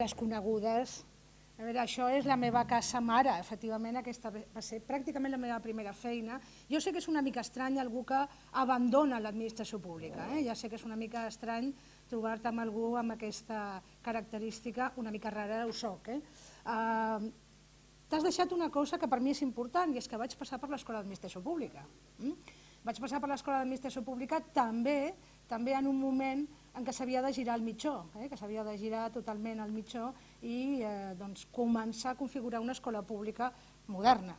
desconegudes. A veure, això és la meva casa mare, efectivament, aquesta va ser pràcticament la meva primera feina. Jo sé que és una mica estrany algú que abandona l'administració pública, ja sé que és una mica estrany trobar-te amb algú amb aquesta característica, una mica rara ho soc. T'has deixat una cosa que per mi és important, i és que vaig passar per l'Escola d'Administració Pública. Vaig passar per l'Escola d'Administració Pública també en un moment en què s'havia de girar el mitjó, que s'havia de girar totalment el mitjó i començar a configurar una escola pública moderna.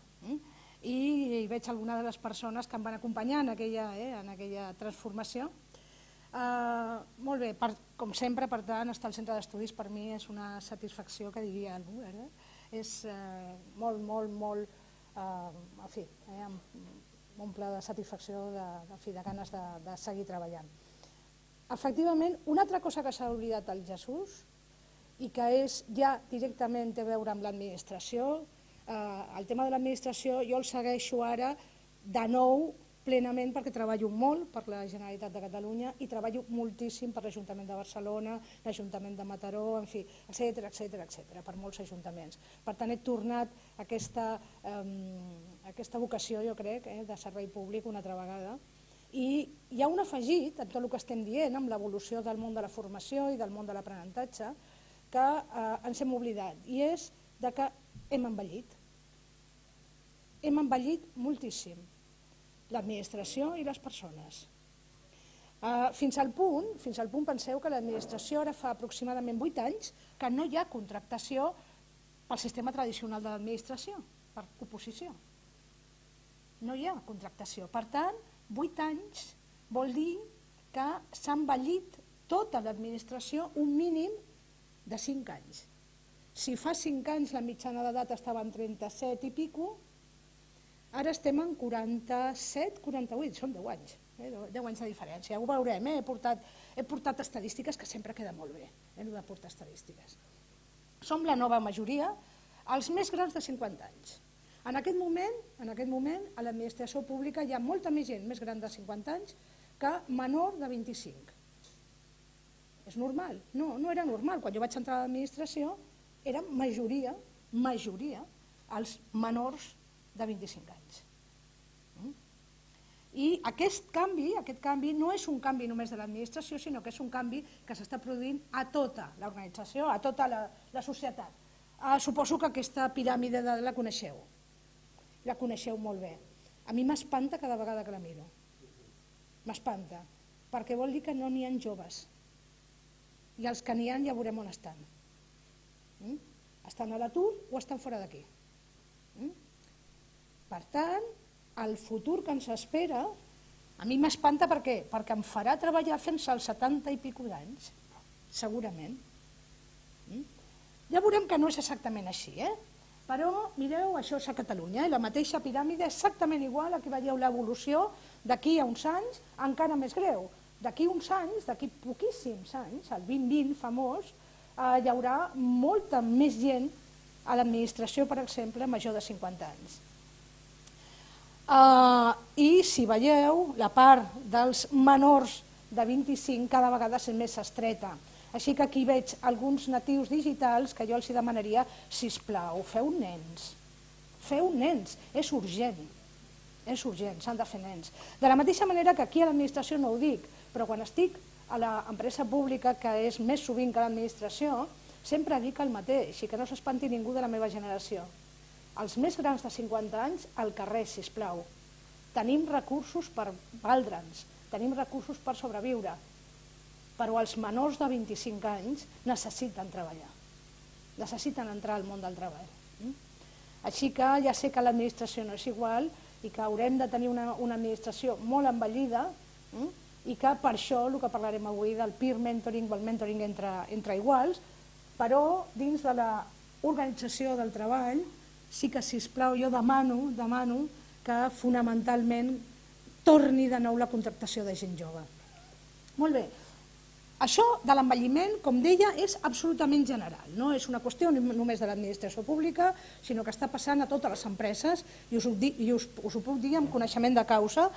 I veig alguna de les persones que em van acompanyar en aquella transformació. Molt bé, com sempre, per tant, estar al centre d'estudis per mi és una satisfacció que diria algú. És molt, en fi, m'omple de satisfacció, de ganes de seguir treballant. Efectivament, una altra cosa que s'ha oblidat el Jesús i que ja directament té a veure amb l'administració, el tema de l'administració jo el segueixo ara de nou plenament perquè treballo molt per la Generalitat de Catalunya i treballo moltíssim per l'Ajuntament de Barcelona, l'Ajuntament de Mataró, en fi, etcètera, per molts ajuntaments. Per tant, he tornat a aquesta vocació, jo crec, de servei públic una altra vegada. I hi ha un afegit en tot el que estem dient, amb l'evolució del món de la formació i del món de l'aprenentatge, que ens hem oblidat, i és que hem envellit. Hem envellit moltíssim, l'administració i les persones. Fins al punt, penseu que l'administració ara fa aproximadament 8 anys que no hi ha contractació pel sistema tradicional de l'administració, per oposició. No hi ha contractació. Per tant, 8 anys vol dir que s'ha envellit tota l'administració un mínim de 5 anys. Si fa 5 anys la mitjana d'edat estava en 37 i pico, ara estem en 47, 48, són 10 anys, 10 anys de diferència. Ho veurem, he portat estadístiques que sempre queda molt bé, he de portar estadístiques. Som la nova majoria, els més grans de 50 anys. En aquest moment, a l'administració pública hi ha molta més gent més gran de 50 anys que menor de 25. És normal? No, no era normal. Quan jo vaig entrar a l'administració, era majoria els menors de 25 anys. I aquest canvi no és un canvi només de l'administració, sinó que és un canvi que s'està produint a tota l'organització, a tota la societat. Suposo que aquesta piràmide la coneixeu. La coneixeu molt bé. A mi m'espanta cada vegada que la miro. M'espanta, perquè vol dir que no n'hi ha joves. I els que n'hi ha ja veurem on estan. Estan a l'atur o estan fora d'aquí. Per tant, el futur que ens espera, a mi m'espanta per què? Perquè em farà treballar fins als 70 i pico d'anys, segurament. Ja veurem que no és exactament així, però mireu, això és a Catalunya, la mateixa piràmide exactament igual, aquí veieu l'evolució, d'aquí a uns anys encara més greu. D'aquí uns anys, d'aquí poquíssims anys, el 2020 famós, hi haurà molta més gent a l'administració, per exemple, major de 50 anys. I si veieu, la part dels menors de 25 cada vegada és més estreta. Així que aquí veig alguns natius digitals que jo els demanaria, sisplau, feu nens, és urgent, s'han de fer nens. De la mateixa manera que aquí a l'administració no ho dic, però quan estic a l'empresa pública, que és més sovint que l'administració, sempre dic el mateix i que no s'espanti ningú de la meva generació. Els més grans de 50 anys, al carrer, sisplau. Tenim recursos per valdre'ns, tenim recursos per sobreviure, però els menors de 25 anys necessiten treballar, necessiten entrar al món del treball. Així que ja sé que l'administració no és igual i que haurem de tenir una administració molt envellida i que per això el que parlarem avui del peer mentoring o el mentoring entre iguals, però dins de l'organització del treball sí que, sisplau, jo demano que fonamentalment torni de nou la contractació de gent jove. Molt bé. Això de l'envelliment, com deia, és absolutament general. No és una qüestió només de l'administració pública, sinó que està passant a totes les empreses i us ho puc dir amb coneixement de causa.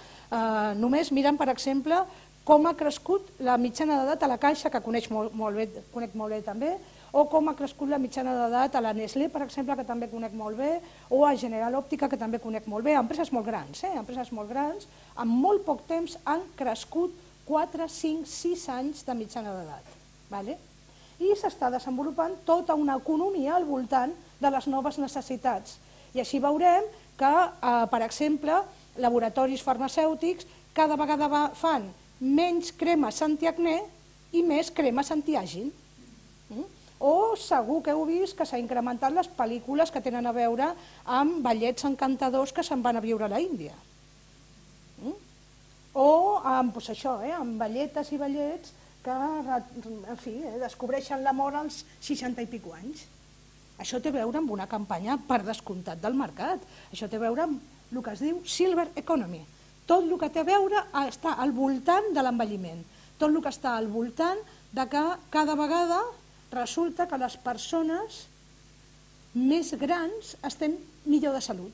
Només mirant, per exemple, com ha crescut la mitjana d'edat a la Caixa, que conec molt bé també, o com ha crescut la mitjana d'edat a la Nestlé, per exemple, que també conec molt bé, o a General Òptica, que també conec molt bé, empreses molt grans, empreses molt grans, en molt poc temps han crescut 4, 5, 6 anys de mitjana d'edat. I s'està desenvolupant tota una economia al voltant de les noves necessitats. I així veurem que, per exemple, laboratoris farmacèutics cada vegada fan menys cremes antiacné i més cremes antiàging. O segur que heu vist que s'ha incrementat les pel·lícules que tenen a veure amb ballets encantadors que se'n van a viure a l'Índia. O amb balletes i ballets que descobreixen l'amor als 60 i pico anys. Això té a veure amb una campanya per descomptat del mercat. Això té a veure amb el que es diu Silver Economy. Tot el que té a veure està al voltant de l'envelliment. Tot el que està al voltant de que cada vegada resulta que les persones més grans estem millor de salut.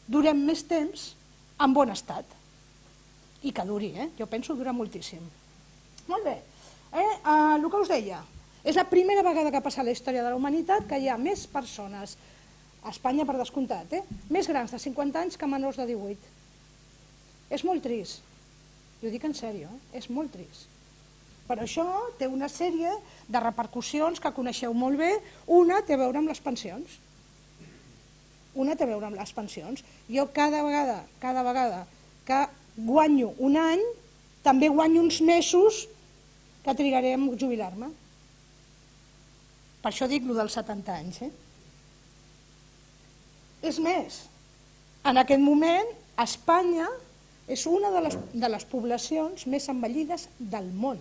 Durem més temps en bon estat. I que duri, jo penso durar moltíssim. Molt bé, el que us deia, és la primera vegada que passa a la història de la humanitat que hi ha més persones, a Espanya per descomptat, més grans de 50 anys que menors de 18. És molt trist, i ho dic en sèrio, és molt trist. Per això té una sèrie de repercussions que coneixeu molt bé. Una té a veure amb les pensions. Jo cada vegada que guanyo un any, també guanyo uns mesos que trigaré a jubilar-me. Per això dic el dels 70 anys. És més, en aquest moment Espanya és una de les poblacions més envellides del món.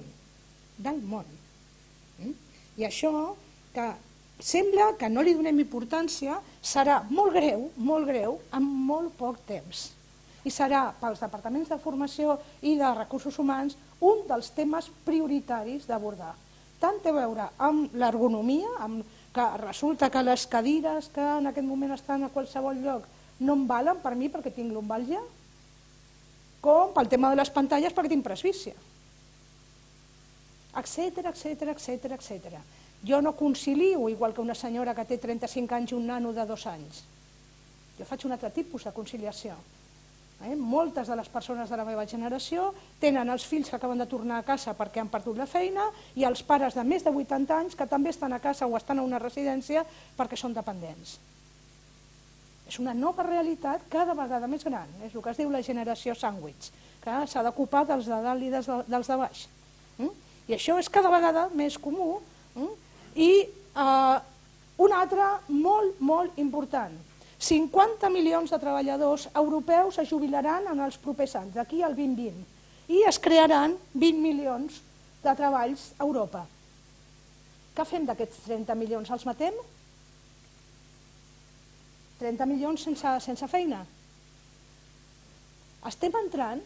I això, que sembla que no li donem importància, serà molt greu en molt poc temps. I serà pels departaments de formació i de recursos humans un dels temes prioritaris d'abordar. Tant té a veure amb l'ergonomia, que resulta que les cadires que en aquest moment estan a qualsevol lloc no em valen per mi perquè tinc lumbàlgia, com pel tema de les pantalles perquè tinc presbícia, etcètera. Jo no concilio igual que una senyora que té 35 anys i un nano de 2 anys. Jo faig un altre tipus de conciliació. Moltes de les persones de la meva generació tenen els fills que acaben de tornar a casa perquè han perdut la feina i els pares de més de 80 anys que també estan a casa o estan a una residència perquè són dependents. És una nova realitat cada vegada més gran, és el que es diu la generació sàndwich, que s'ha d'ocupar dels de dalt i dels de baix. I això és cada vegada més comú. I un altre molt important, 50 milions de treballadors europeus es jubilaran en els propers anys, d'aquí al 2020, i es crearan 20 milions de treballs a Europa. Què fem d'aquests 30 milions? Els matem? 30 milions sense feina? Estem entrant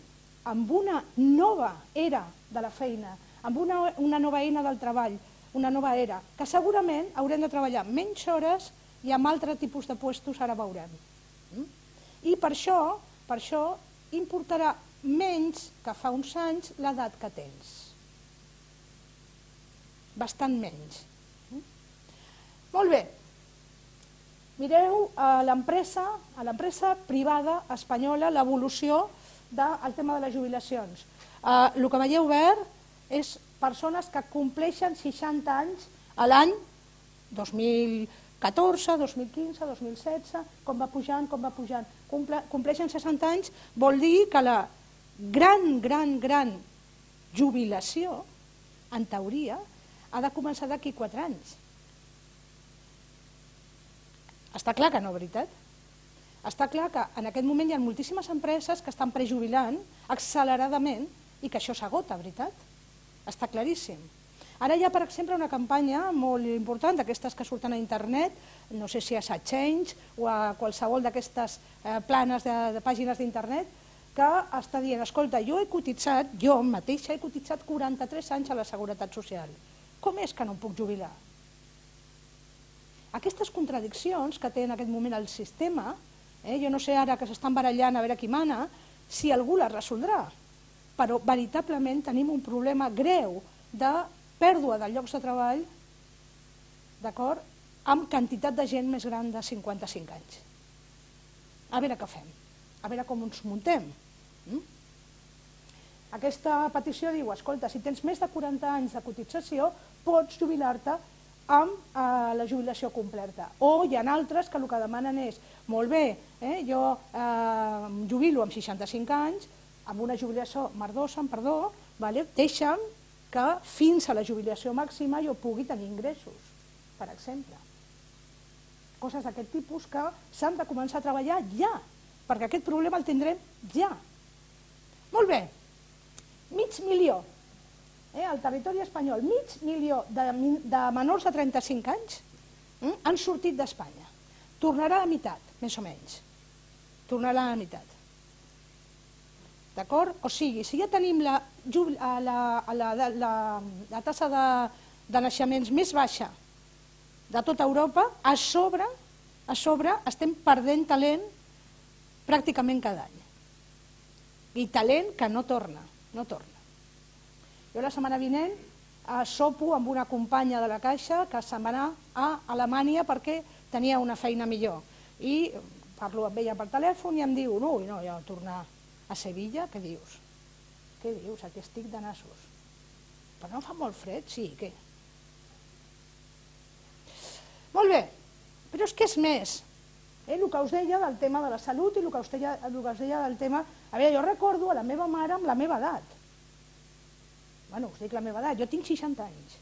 en una nova era de la feina, en una nova eina del treball, una nova era, que segurament haurem de treballar menys hores i amb altre tipus de puestos, ara veurem. I per això importarà menys que fa uns anys l'edat que tens. Bastant menys. Molt bé. Mireu a l'empresa privada espanyola l'evolució del tema de les jubilacions. El que veieu verd és persones que compleixen 60 anys a l'any 2014, 2015, 2016, com va pujant. Compleixen 60 anys, vol dir que la gran jubilació, en teoria, ha de començar d'aquí 4 anys. Està clar que no, veritat? Està clar que en aquest moment hi ha moltíssimes empreses que estan prejubilant acceleradament i que això s'agota, veritat? Està claríssim. Ara hi ha, per exemple, una campanya molt important d'aquestes que surten a internet, no sé si a Change o a qualsevol d'aquestes planes de pàgines d'internet, que està dient, escolta, jo mateixa he cotitzat 43 anys a la Seguretat Social. Com és que no em puc jubilar? Aquestes contradiccions que té en aquest moment el sistema, jo no sé ara que s'estan barallant a veure qui mana, si algú les resoldrà, però veritablement tenim un problema greu de pèrdua de llocs de treball d'acord, amb quantitat de gent més gran de 55 anys. A veure què fem, a veure com ens muntem. Aquesta petició diu, escolta, si tens més de 40 anys de cotització, pots jubilar-te amb la jubilació completa. O hi ha altres que el que demanen és, molt bé, jo em jubilo amb 65 anys, amb una jubilació merdosa, deixa'm que fins a la jubilació màxima jo pugui tenir ingressos, per exemple. Coses d'aquest tipus que s'han de començar a treballar ja, perquè aquest problema el tindrem ja. Molt bé, 500.000, al territori espanyol, 500.000 de menors de 35 anys han sortit d'Espanya. Tornarà a la meitat, més o menys. Tornarà a la meitat. D'acord? O sigui, si ja tenim la taxa de naixements més baixa de tota Europa, a sobre estem perdent talent pràcticament cada any. I talent que no torna. Jo la setmana vinent sopo amb una companya de la Caixa que se'n va anar a Alemanya perquè tenia una feina millor. I parlo amb ella per telèfon i em diu, no, jo tornar a Sevilla, què dius? Què dius? Aquí estic de nassos. Però no fa molt fred? Sí, què? Molt bé, però és que és més. El que us deia del tema de la salut i el que us deia del tema... A veure, jo recordo a la meva mare amb la meva edat. Bueno, us dic la meva edat, jo tinc 60 anys.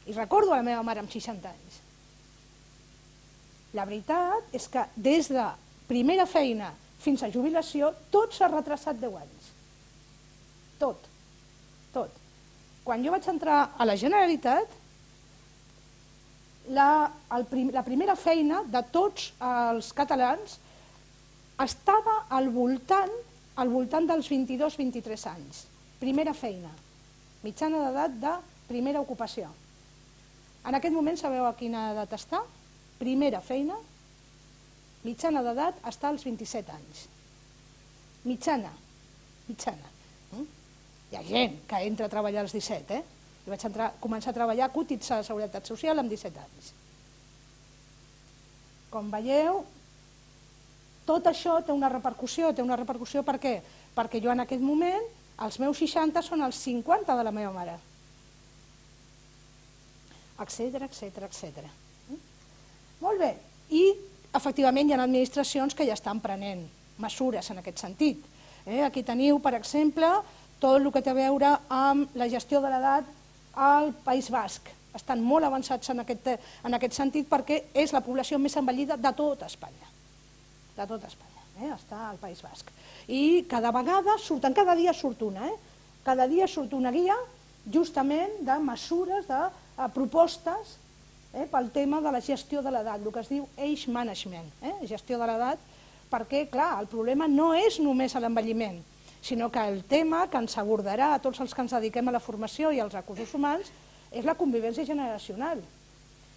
I recordo a la meva mare amb 60 anys. La veritat és que des de primera feina fins a jubilació tot s'ha retrasat 10 anys. Tot. Quan jo vaig entrar a la Generalitat, la primera feina de tots els catalans estava al voltant dels 22-23 anys. Primera feina, mitjana d'edat de primera ocupació. En aquest moment sabeu a quina edat està? Primera feina, mitjana d'edat està als 27 anys. Mitjana. Hi ha gent que entra a treballar als 17, Jo vaig començar a treballar a cotitzar a la Seguretat Social amb 17 anys. Com veieu, tot això té una repercussió. Per què? Perquè jo en aquest moment, els meus 60 són els 50 de la meva mare. Etcètera. Molt bé. I, efectivament, hi ha administracions que ja estan prenent mesures en aquest sentit. Aquí teniu, per exemple, tot el que té a veure amb la gestió de l'edat al País Basc. Estan molt avançats en aquest sentit perquè és la població més envellida de tota Espanya. De tota Espanya, està al País Basc. I cada dia surt una. Cada dia surt una guia justament de mesures, de propostes pel tema de la gestió de l'edat, el que es diu age management, gestió de l'edat, perquè, clar, el problema no és només l'envelliment, sinó que el tema que ens abordarà a tots els que ens dediquem a la formació i als recursos humans és la convivència generacional.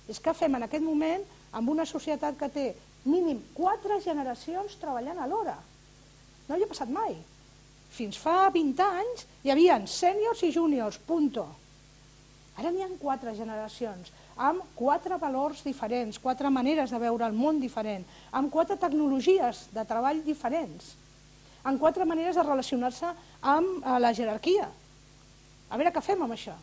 És que fem en aquest moment amb una societat que té mínim 4 generacions treballant alhora. No hi ha passat mai. Fins fa 20 anys hi havia sèniors i júniors, punto. Ara n'hi ha 4 generacions, amb 4 valors diferents, 4 maneres de veure el món diferent, amb 4 tecnologies de treball diferents, amb 4 maneres de relacionar-se amb la jerarquia. A veure què fem amb això.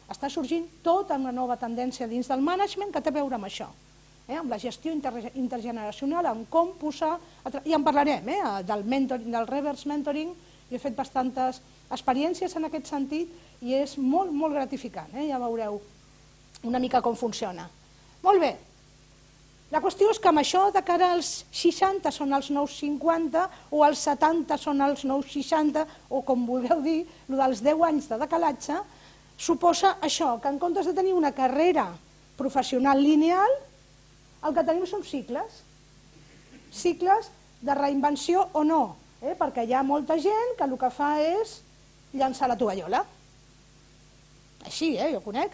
Està sorgint tota una nova tendència dins del management que té a veure amb això, amb la gestió intergeneracional, amb com posar... I en parlarem, del reverse mentoring. Jo he fet bastantes experiències en aquest sentit i és molt, molt gratificant. Ja veureu una mica com funciona. Molt bé. La qüestió és que amb això de cara als 60 són els nous 50 o els 70 són els nous 60 o com vulgueu dir, el dels 10 anys de decalatge, suposa això, que en comptes de tenir una carrera professional lineal, el que tenim són cicles. Cicles de reinvenció o no, perquè hi ha molta gent que el que fa és llançar la tovallola. Així, jo conec.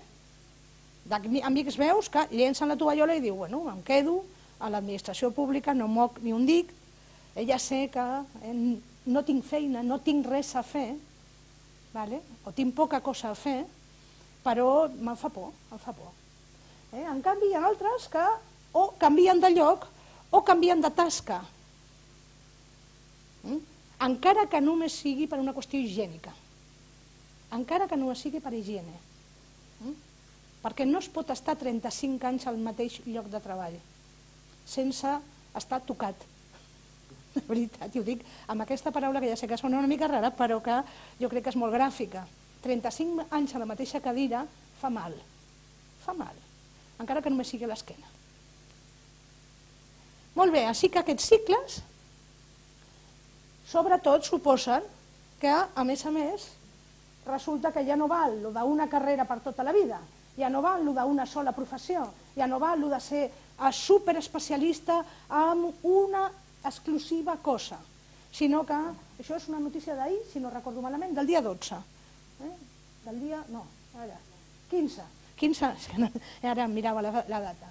Amics meus que llencen la tovallola i diu, bueno, em quedo a l'administració pública, no moc ni un dic, ja sé que no tinc feina, no tinc res a fer, o tinc poca cosa a fer, però me'n fa por, En canvi, hi ha altres que o canvien de lloc o canvien de tasca, encara que només sigui per una qüestió higiènica, encara que només sigui per higiene, perquè no es pot estar 35 anys al mateix lloc de treball sense estar tocat. De veritat, i ho dic amb aquesta paraula que ja sé que sona una mica rara, però que jo crec que és molt gràfica. 35 anys a la mateixa cadira fa mal, encara que només sigui a l'esquena. Molt bé, així que aquests cicles sobretot suposen que, a més, resulta que ja no val el d'una carrera per tota la vida, ja no val el d'una sola professió, ja no val el de ser superespecialista en una exclusiva cosa, sinó que, això és una notícia d'ahir, si no recordo malament, del dia 12, del dia, no, ara, 15, ara mirava la data,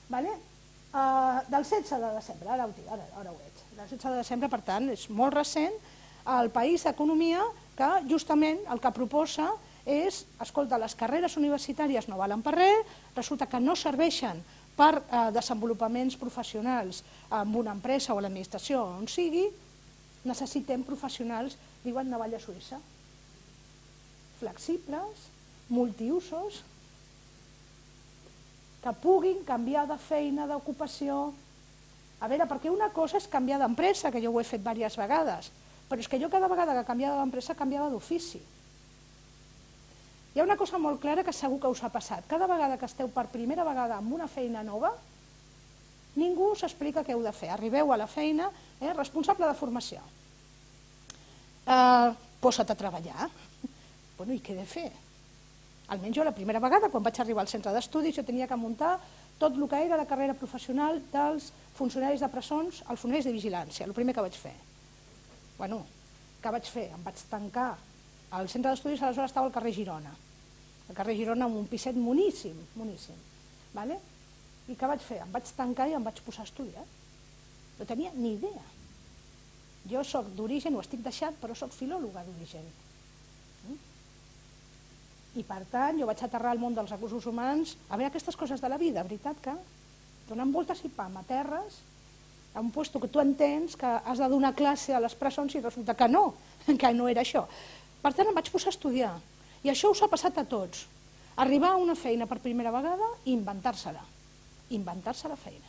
del 16 de desembre, ara ho veig, del 16 de desembre, per tant, és molt recent, el País d'Economia, que justament el que proposa és, escolta, les carreres universitàries no valen per res, resulta que no serveixen per desenvolupaments professionals en una empresa o a l'administració o on sigui, necessitem professionals, diuen navalla suïssa, flexibles, multiusos, que puguin canviar de feina, d'ocupació. A veure, perquè una cosa és canviar d'empresa, que jo ho he fet diverses vegades, però és que jo cada vegada que canviava d'empresa canviava d'ofici. Hi ha una cosa molt clara que segur que us ha passat. Cada vegada que esteu per primera vegada amb una feina nova, ningú us explica què heu de fer. Arribeu a la feina, responsable de formació. Posa't a treballar. Bueno, i què he de fer? Almenys jo la primera vegada, quan vaig arribar al centre d'estudis, jo tenia que muntar tot el que era la carrera professional dels funcionaris de presons als funcionaris de vigilància, el primer que vaig fer. Bueno, què vaig fer? Em vaig tancar. Al centre d'estudis aleshores estava al carrer Girona. Al carrer Girona amb un piset moníssim, moníssim. I què vaig fer? Em vaig tancar i em vaig posar a estudiar. No tenia ni idea. Jo soc d'origen, ho estic deixant, però soc filòloga d'origen. I per tant, jo vaig aterrar al món dels recursos humans a veure aquestes coses de la vida, veritat que donen voltes i pam a terres, a un lloc que tu entens que has de donar classe a les presons i resulta que no era això. Per tant, em vaig posar a estudiar. I això us ha passat a tots. Arribar a una feina per primera vegada i inventar-se-la. Inventar-se la feina.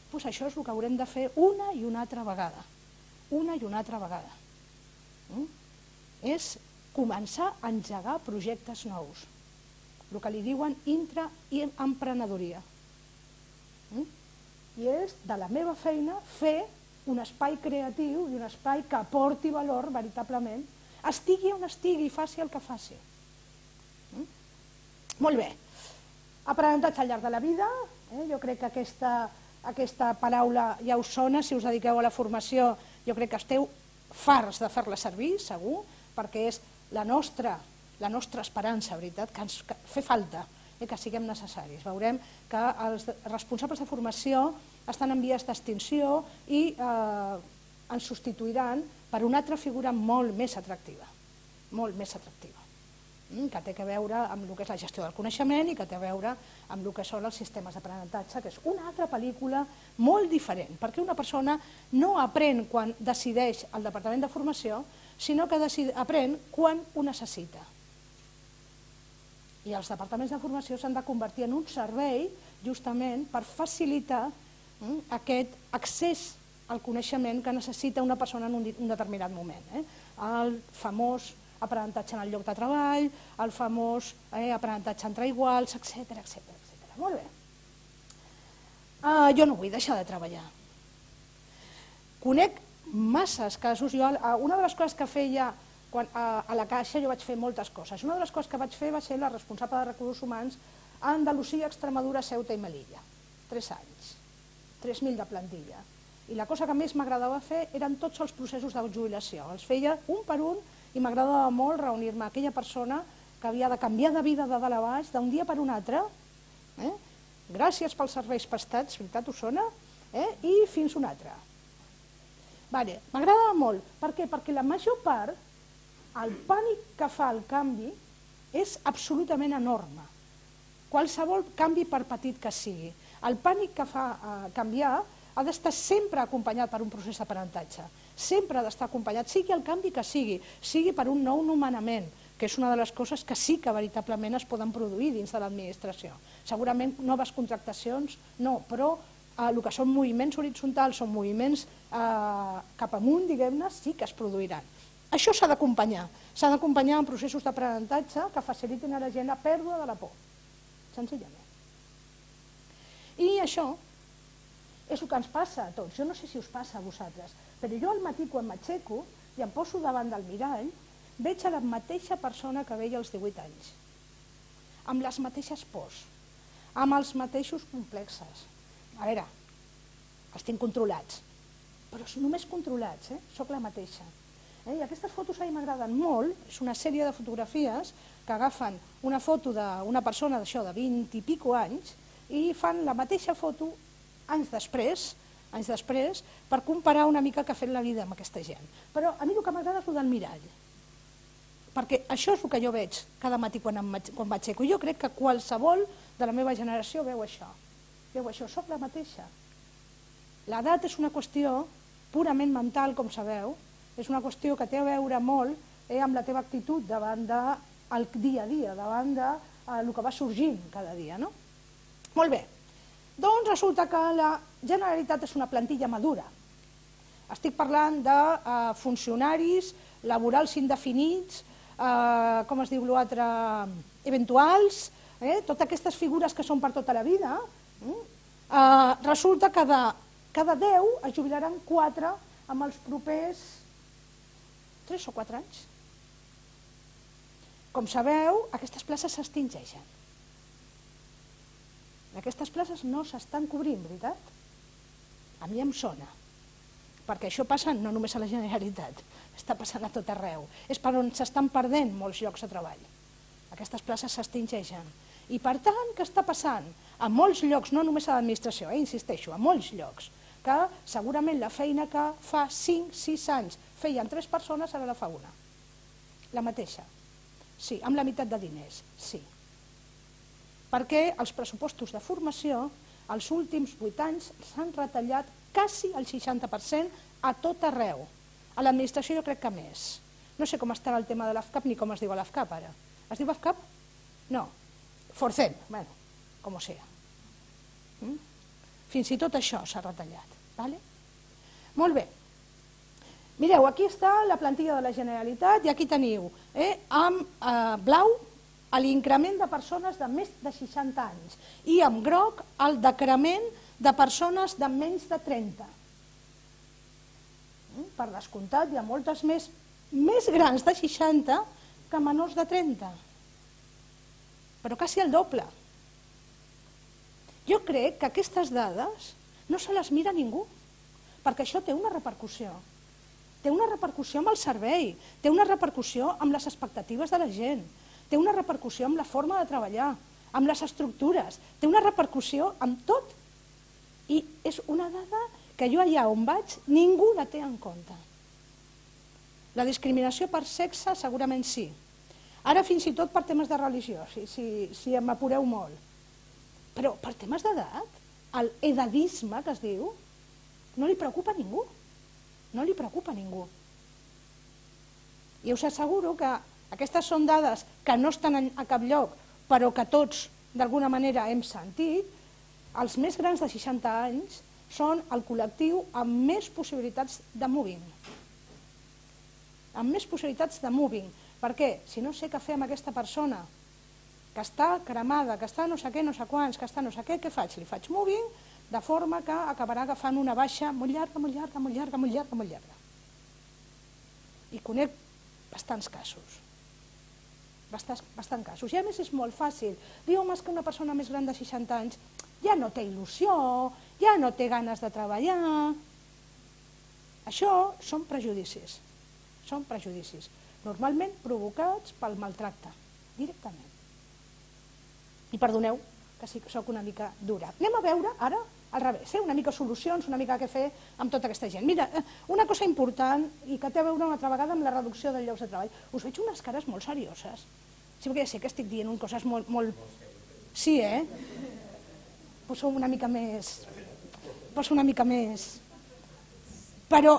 Doncs això és el que haurem de fer una i una altra vegada. Una i una altra vegada. És començar a engegar projectes nous, el que li diuen intraemprenedoria. I és de la meva feina fer un espai creatiu i un espai que aporti valor veritablement, estigui on estigui i faci el que faci. Molt bé, aprenentatge al llarg de la vida, jo crec que aquesta paraula ja us sona, si us dediqueu a la formació jo crec que esteu farts de fer-la servir, segur, perquè és la nostra esperança, veritat, que ens fa falta que siguem necessaris. Veurem que els responsables de formació estan en vies d'extinció i ens substituiran per una altra figura molt més atractiva, que té a veure amb el que és la gestió del coneixement i que té a veure amb el que són els sistemes d'aprenentatge, que és una altra pel·lícula molt diferent, perquè una persona no aprèn quan decideix el departament de formació, sinó que aprèn quan ho necessita. I els departaments de formació s'han de convertir en un servei justament per facilitar aquest accés al coneixement que necessita una persona en un determinat moment. El famós aprenentatge en el lloc de treball, el famós aprenentatge entre iguals, etc. Molt bé. Jo no vull deixar de treballar. Conec masses casos. Una de les coses que feia a la Caixa, jo vaig fer moltes coses. Una de les coses que vaig fer va ser la responsable de recursos humans a Andalusia, Extremadura, Ceuta i Melilla. 3 anys, 3.000 de plantilla. I la cosa que més m'agradava fer eren tots els processos de jubilació. Els feia un per un i m'agradava molt reunir-me amb aquella persona que havia de canviar de vida de dalt a baix d'un dia per un altre. Gràcies pels serveis prestats, veritat us sona? I fins un altre. M'agradava molt. Per què? Perquè la major part, el pànic que fa el canvi és absolutament enorme. qualsevol canvi per petit que sigui. El pànic que fa canviar ha d'estar sempre acompanyat per un procés d'aprenentatge, sempre ha d'estar acompanyat, sigui el canvi que sigui per un nou nomenament, que és una de les coses que sí que veritablement es poden produir dins de l'administració. Segurament noves contractacions no, però el que són moviments horitzontals o moviments cap amunt, diguem-ne, sí que es produiran. Això s'ha d'acompanyar amb processos d'aprenentatge que facilitin a la gent la pèrdua de la por, senzillament. I això és el que ens passa a tots. Jo no sé si us passa a vosaltres, però jo al matí quan m'aixeco i em poso davant del mirall, veig a la mateixa persona que veia als 18 anys, amb les mateixes pors, amb els mateixos complexes. A veure, els tinc controlats, però només controlats, soc la mateixa. I aquestes fotos a mi m'agraden molt, és una sèrie de fotografies que agafen una foto d'una persona d'això de 20 i pico anys i fan la mateixa foto anys després, per comparar una mica què ha fet la vida amb aquesta gent. Però a mi el que m'agrada és el del mirall, perquè això és el que jo veig cada matí quan m'aixeco. Jo crec que qualsevol de la meva generació veu això, soc la mateixa. L'edat és una qüestió purament mental, com sabeu, és una qüestió que té a veure molt amb la teva actitud davant del dia a dia, davant del que va sorgint cada dia. Molt bé, doncs resulta que la Generalitat és una plantilla madura. Estic parlant de funcionaris laborals indefinits, com es diu l'altre, eventuals, totes aquestes figures que són per tota la vida. Resulta que de cada 10 es jubilaran 4 amb els propers 3 o 4 anys. Com sabeu, aquestes places s'extingeixen. Aquestes places no s'estan cobrint, veritat? A mi em sona, perquè això passa no només a la Generalitat, està passant a tot arreu. És per on s'estan perdent molts llocs de treball. Aquestes places s'extingeixen. I per tant, què està passant? A molts llocs, no només a l'administració, insisteixo, a molts llocs, que segurament la feina que fa 5-6 anys feien 3 persones, ara la fa una. La mateixa. Sí, amb la meitat de diners, sí. Perquè els pressupostos de formació, els últims 8 anys, s'han retallat quasi el 60% a tot arreu. A l'administració jo crec que més. No sé com estarà el tema de l'AFCAP ni com es diu l'AFCAP ara. Es diu AFCAP? No. Forcem, bueno, com ho sea. Fins i tot això s'ha retallat. Molt bé. Mireu, aquí està la plantilla de la Generalitat i aquí teniu amb blau l'increment de persones de més de 60 anys i amb groc el decrement de persones de menys de 30. Per descomptat, hi ha moltes més grans de 60 que menors de 30. Però quasi el doble. Jo crec que aquestes dades no se les mira ningú, perquè això té una repercussió. Té una repercussió amb el servei, té una repercussió amb les expectatives de la gent, té una repercussió amb la forma de treballar, amb les estructures, té una repercussió amb tot. I és una dada que jo allà on vaig ningú la té en compte. La discriminació per sexe segurament sí. Ara fins i tot per temes de religió, si m'apureu molt. Però per temes d'edat, l'edadisme que es diu, no li preocupa a ningú. No li preocupa a ningú. I us asseguro que aquestes són dades que no estan a cap lloc, però que tots d'alguna manera hem sentit. Els més grans de 60 anys són el col·lectiu amb més possibilitats de moving. Amb més possibilitats de moving. Per què? Si no sé què fer amb aquesta persona que està cremada, que està no sé què, no sé quants, que està no sé què faig? Li faig moving, de forma que acabarà agafant una baixa molt llarga, molt llarga, molt llarga, molt llarga, molt llarga. I conec bastants casos. Bastants casos. I a més és molt fàcil. Diu, home, és que una persona més gran de 60 anys ja no té il·lusió, ja no té ganes de treballar. Això són prejudicis. Són prejudicis. Normalment provocats pel maltracte, directament. I perdoneu, que sí que soc una mica dura. Anem a veure ara al revés, una mica solucions, una mica què fer amb tota aquesta gent. Mira, una cosa important i que té a veure una altra vegada amb la reducció de llocs de treball. Us veig unes cares molt serioses. Sí, perquè ja sé que estic dient coses molt... Sí, Poso una mica més... Però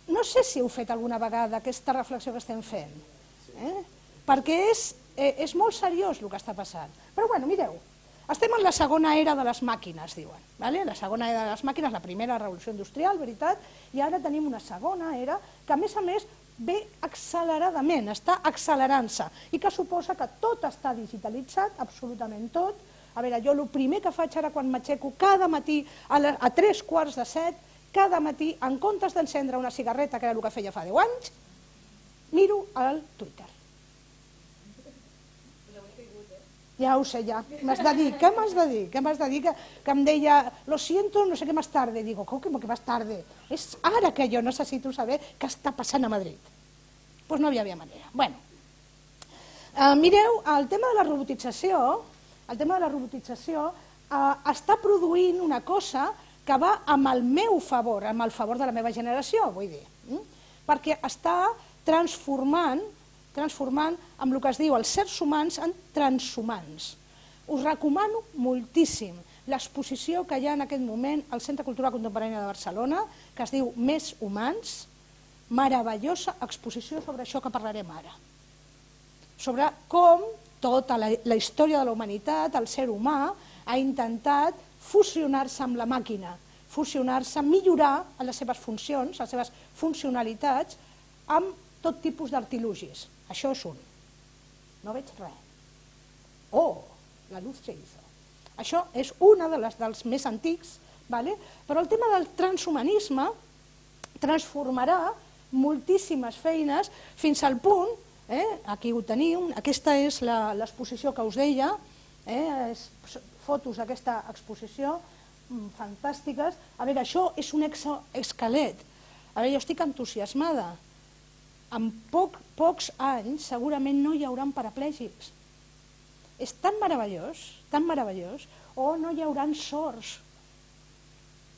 no sé si heu fet alguna vegada aquesta reflexió que estem fent, perquè és molt seriós el que està passant. Però bueno, mireu, estem en la segona era de les màquines, diuen. La segona era de les màquines, la primera revolució industrial, veritat, i ara tenim una segona era que a més ve acceleradament, està accelerant-se, i que suposa que tot està digitalitzat, absolutament tot. A veure, jo el primer que faig ara quan m'aixeco cada matí a 7:15, cada matí, en comptes d'encendre una cigarreta, que era el que feia fa 10 anys, miro el Twitter. Ja ho sé, ja. M'has de dir, què m'has de dir? Què m'has de dir? Que em deia, lo siento, no sé què más tarde. Digo, com que más tarde? És ara que jo necessito saber què està passant a Madrid. Doncs no hi havia manera. Bueno, mireu, el tema de la robotització està produint una cosa que va amb el meu favor, amb el favor de la meva generació, vull dir, perquè està transformant amb el que es diu els sers humans en transhumans. Us recomano moltíssim l'exposició que hi ha en aquest moment al Centre Cultural Contemporània de Barcelona, que es diu Més humans, meravellosa exposició sobre això que parlarem ara, sobre com tota la història de la humanitat, el ser humà, ha intentat fusionar-se amb la màquina, fusionar-se, millorar les seves funcions, les seves funcionalitats, amb tot tipus d'artilugis. Això és un. No veig res. Oh, la luz se hizo. Això és una dels més antics, però el tema del transhumanisme transformarà moltíssimes feines fins al punt, aquí ho teniu, aquesta és l'exposició que us deia, fotos d'aquesta exposició, fantàstiques. A veure, això és un exoesquelet. A veure, jo estic entusiasmada. En pocs anys segurament no hi haurà paraplègics. És tan meravellós, o no hi haurà sords.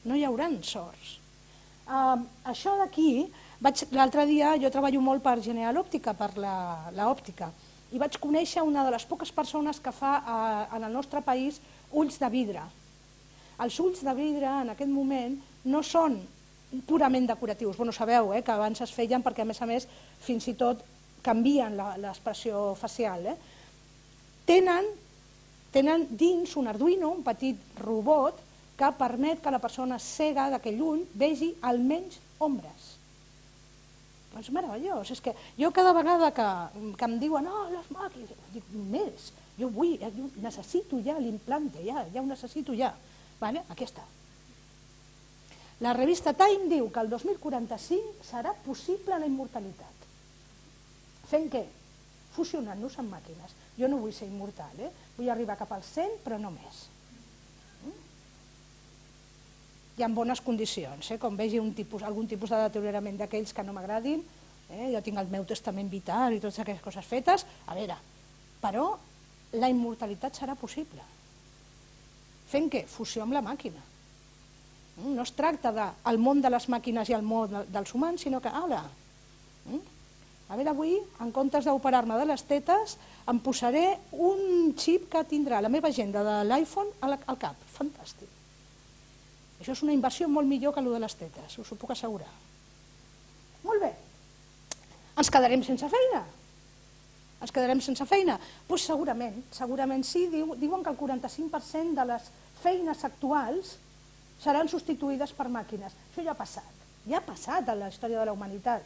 No hi haurà sords. Això d'aquí, l'altre dia jo treballo molt per General Òptica, per l'òptica, i vaig conèixer una de les poques persones que fa en el nostre país ulls de vidre. Els ulls de vidre en aquest moment no són purament decoratius. Bueno, sabeu que abans es feien perquè a més fins i tot canvien l'expressió facial. Tenen dins un Arduino, un petit robot, que permet que la persona cega d'aquell ull vegi almenys ombres. És meravellós. És que jo cada vegada que em diuen les màquines, dic, més, jo necessito ja l'implante, ja ho necessito ja. Aquí està. La revista Time diu que el 2045 serà possible la immortalitat. Fent què? Fusionant-nos amb màquines. Jo no vull ser immortal, vull arribar cap al 100, però no més. I en bones condicions, com vegi algun tipus de deteriorament d'aquells que no m'agradin, jo tinc el meu testament vital i totes aquestes coses fetes, a veure, però la immortalitat serà possible. Fent què? Fusió amb la màquina. No es tracta del món de les màquines i el món dels humans, sinó que, a veure, avui, en comptes d'operar-me de les tetes, em posaré un xip que tindrà la meva agenda de l'iPhone al cap. Fantàstic. Això és una inversió molt millor que el de les tetes, us ho puc assegurar. Molt bé. Ens quedarem sense feina? Ens quedarem sense feina? Doncs segurament sí. Diuen que el 45% de les feines actuals seran substituïdes per màquines. Això ja ha passat en la història de la humanitat.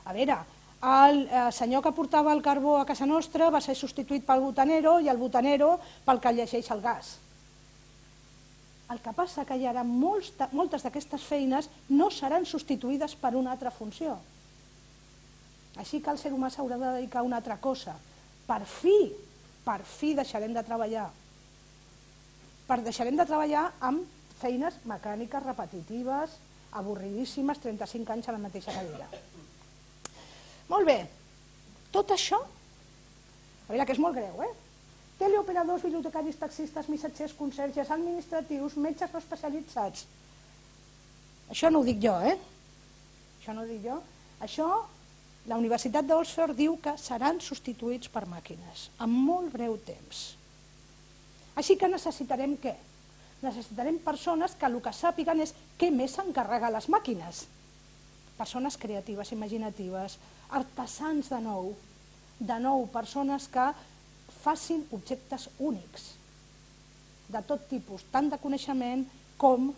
A veure, el senyor que portava el carbó a casa nostra va ser substituït pel botanero i el botanero pel que llegeix el gas. El que passa que hi haurà moltes d'aquestes feines no seran substituïdes per una altra funció. Així que el ser humà s'haurà de dedicar a una altra cosa. Per fi deixarem de treballar. Deixarem de treballar amb feines mecàniques repetitives, avorridíssimes, 35 anys a la mateixa cadira. Molt bé. Tot això, a veure que és molt greu, teleoperadors, bibliotecaris, taxistes, missatgers, conserges, administratius, metges no especialitzats. Això no ho dic jo, Això no ho dic jo. Això, la Universitat d'Oxford diu que seran substituïts per màquines, en molt breu temps. Així que necessitarem què? Necessitarem persones que el que sàpiguen és què més s'encarrega a les màquines. Persones creatives, imaginatives, artesans de nou, persones que facin objectes únics, de tot tipus, tant de coneixement com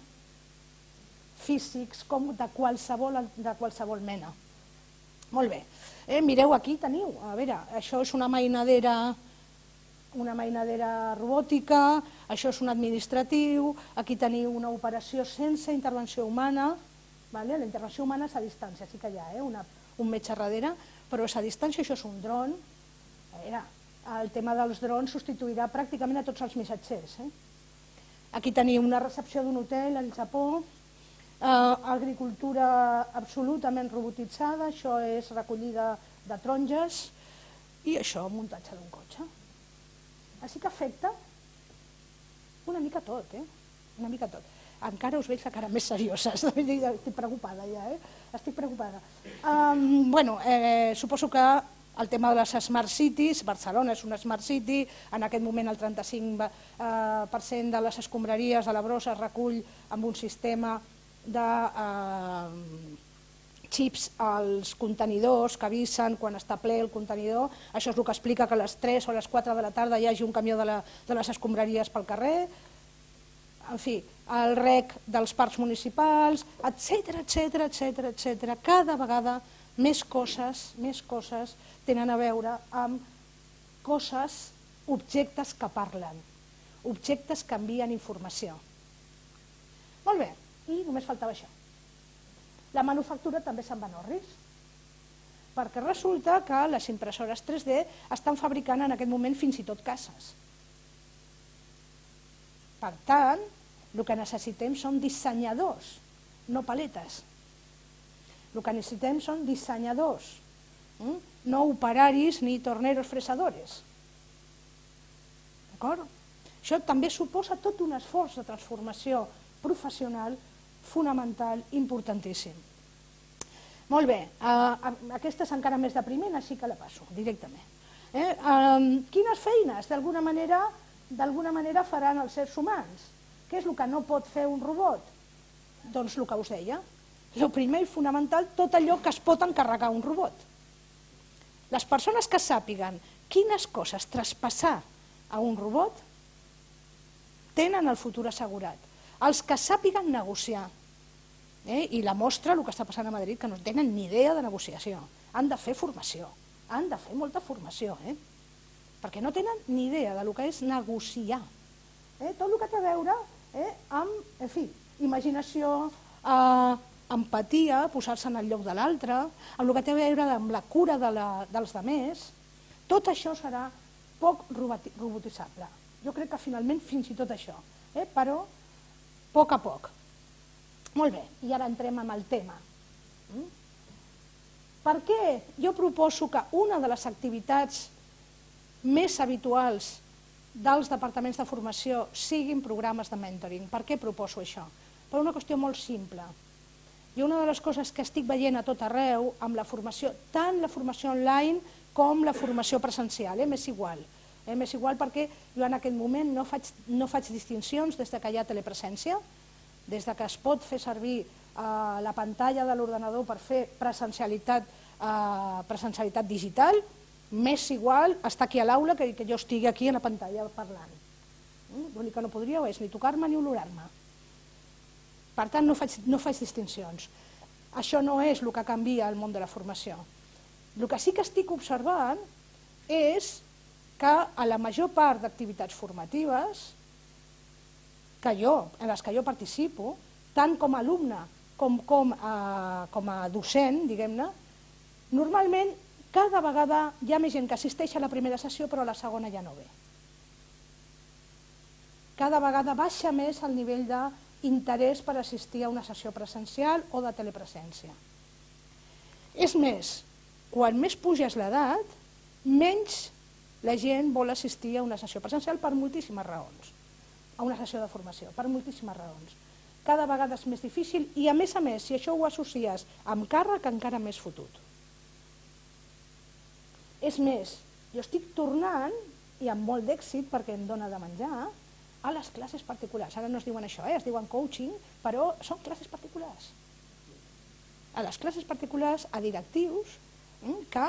físics, com de qualsevol mena. Molt bé, mireu, aquí teniu, a veure, això és una mainadera robòtica, això és un administratiu, aquí teniu una operació sense intervenció humana, la intervenció humana és a distància, sí que hi ha un metge darrere, però és a distància, això és un dron. El tema dels drons substituirà pràcticament a tots els missatgers. Aquí teniu una recepció d'un hotel al Japó, agricultura absolutament robotitzada, això és recollida de taronges i això, muntatge d'un cotxe. Així que afecta una mica tot, una mica tot. Encara us veig la cara més seriosa, estic preocupada ja, estic preocupada. Suposo que el tema de les Smart Cities, Barcelona és una Smart City, en aquest moment el 35% de les escombraries de la brossa es recull amb un sistema de xips als contenidors que avisen quan està ple el contenidor. Això és el que explica que a les 3 o a les 4 de la tarda hi hagi un camió de les escombraries pel carrer. En fi, el rec dels parcs municipals, etc. Cada vegada més coses tenen a veure amb coses, objectes que parlen, objectes que envien informació. Molt bé, i només faltava això. La manufactura també se'n va en orris, perquè resulta que les impressores 3D estan fabricant en aquest moment fins i tot cases. Per tant, el que necessitem són dissenyadors, no paletes. El que necessitem són dissenyadors, no operaris ni torneros fresadores. D'acord? Això també suposa tot un esforç de transformació professional fonamental, importantíssim. Molt bé, aquesta és encara més depriment, així que la passo directament. Quines feines d'alguna manera faran els éssers humans? Què és el que no pot fer un robot? Doncs el que us deia. El primer i fonamental, tot allò que es pot encarregar un robot. Les persones que sàpiguen quines coses traspassar a un robot tenen el futur assegurat. Els que sàpiguen negociar, i la mostra el que està passant a Madrid, que no tenen ni idea de negociació, han de fer formació, han de fer molta formació, perquè no tenen ni idea del que és negociar. Tot el que té a veure amb, en fi, imaginació, empatia, posar-se en el lloc de l'altre, amb el que té a veure amb la cura dels altres, tot això serà poc robotitzable. Jo crec que finalment fins i tot això, però a poc a poc. Molt bé, i ara entrem en el tema. Per què jo proposo que una de les activitats més habituals dels departaments de formació siguin programes de mentoring? Per què proposo això? Per una qüestió molt simple. I una de les coses que estic veient a tot arreu amb la formació, tant la formació online com la formació presencial, m'és igual. M'és igual perquè jo en aquest moment no faig distincions des que hi ha telepresència, des que es pot fer servir la pantalla de l'ordenador per fer presencialitat digital, m'és igual estar aquí a l'aula que jo estigui aquí a la pantalla parlant. L'únic que no podríeu és ni tocar-me ni olorar-me. Per tant, no faig distincions. Això no és el que canvia el món de la formació. El que sí que estic observant és que a la major part d'activitats formatives en les que jo participo, tant com a alumne com a docent, diguem-ne, normalment cada vegada hi ha més gent que assisteix a la primera sessió però a la segona ja no ve. Cada vegada baixa més el nivell d'interès per assistir a una sessió presencial o de telepresència. És més, quan més puges l'edat, menys la gent vol assistir a una sessió presencial per moltíssimes raons, a una sessió de formació, per moltíssimes raons. Cada vegada és més difícil i, a més, si això ho associes amb càrrec, encara més fotut. És més, jo estic tornant, i amb molt d'èxit perquè em dóna de menjar, a les classes particulars. Ara no es diuen això, es diuen coaching, però són classes particulars. A les classes particulars, a directius que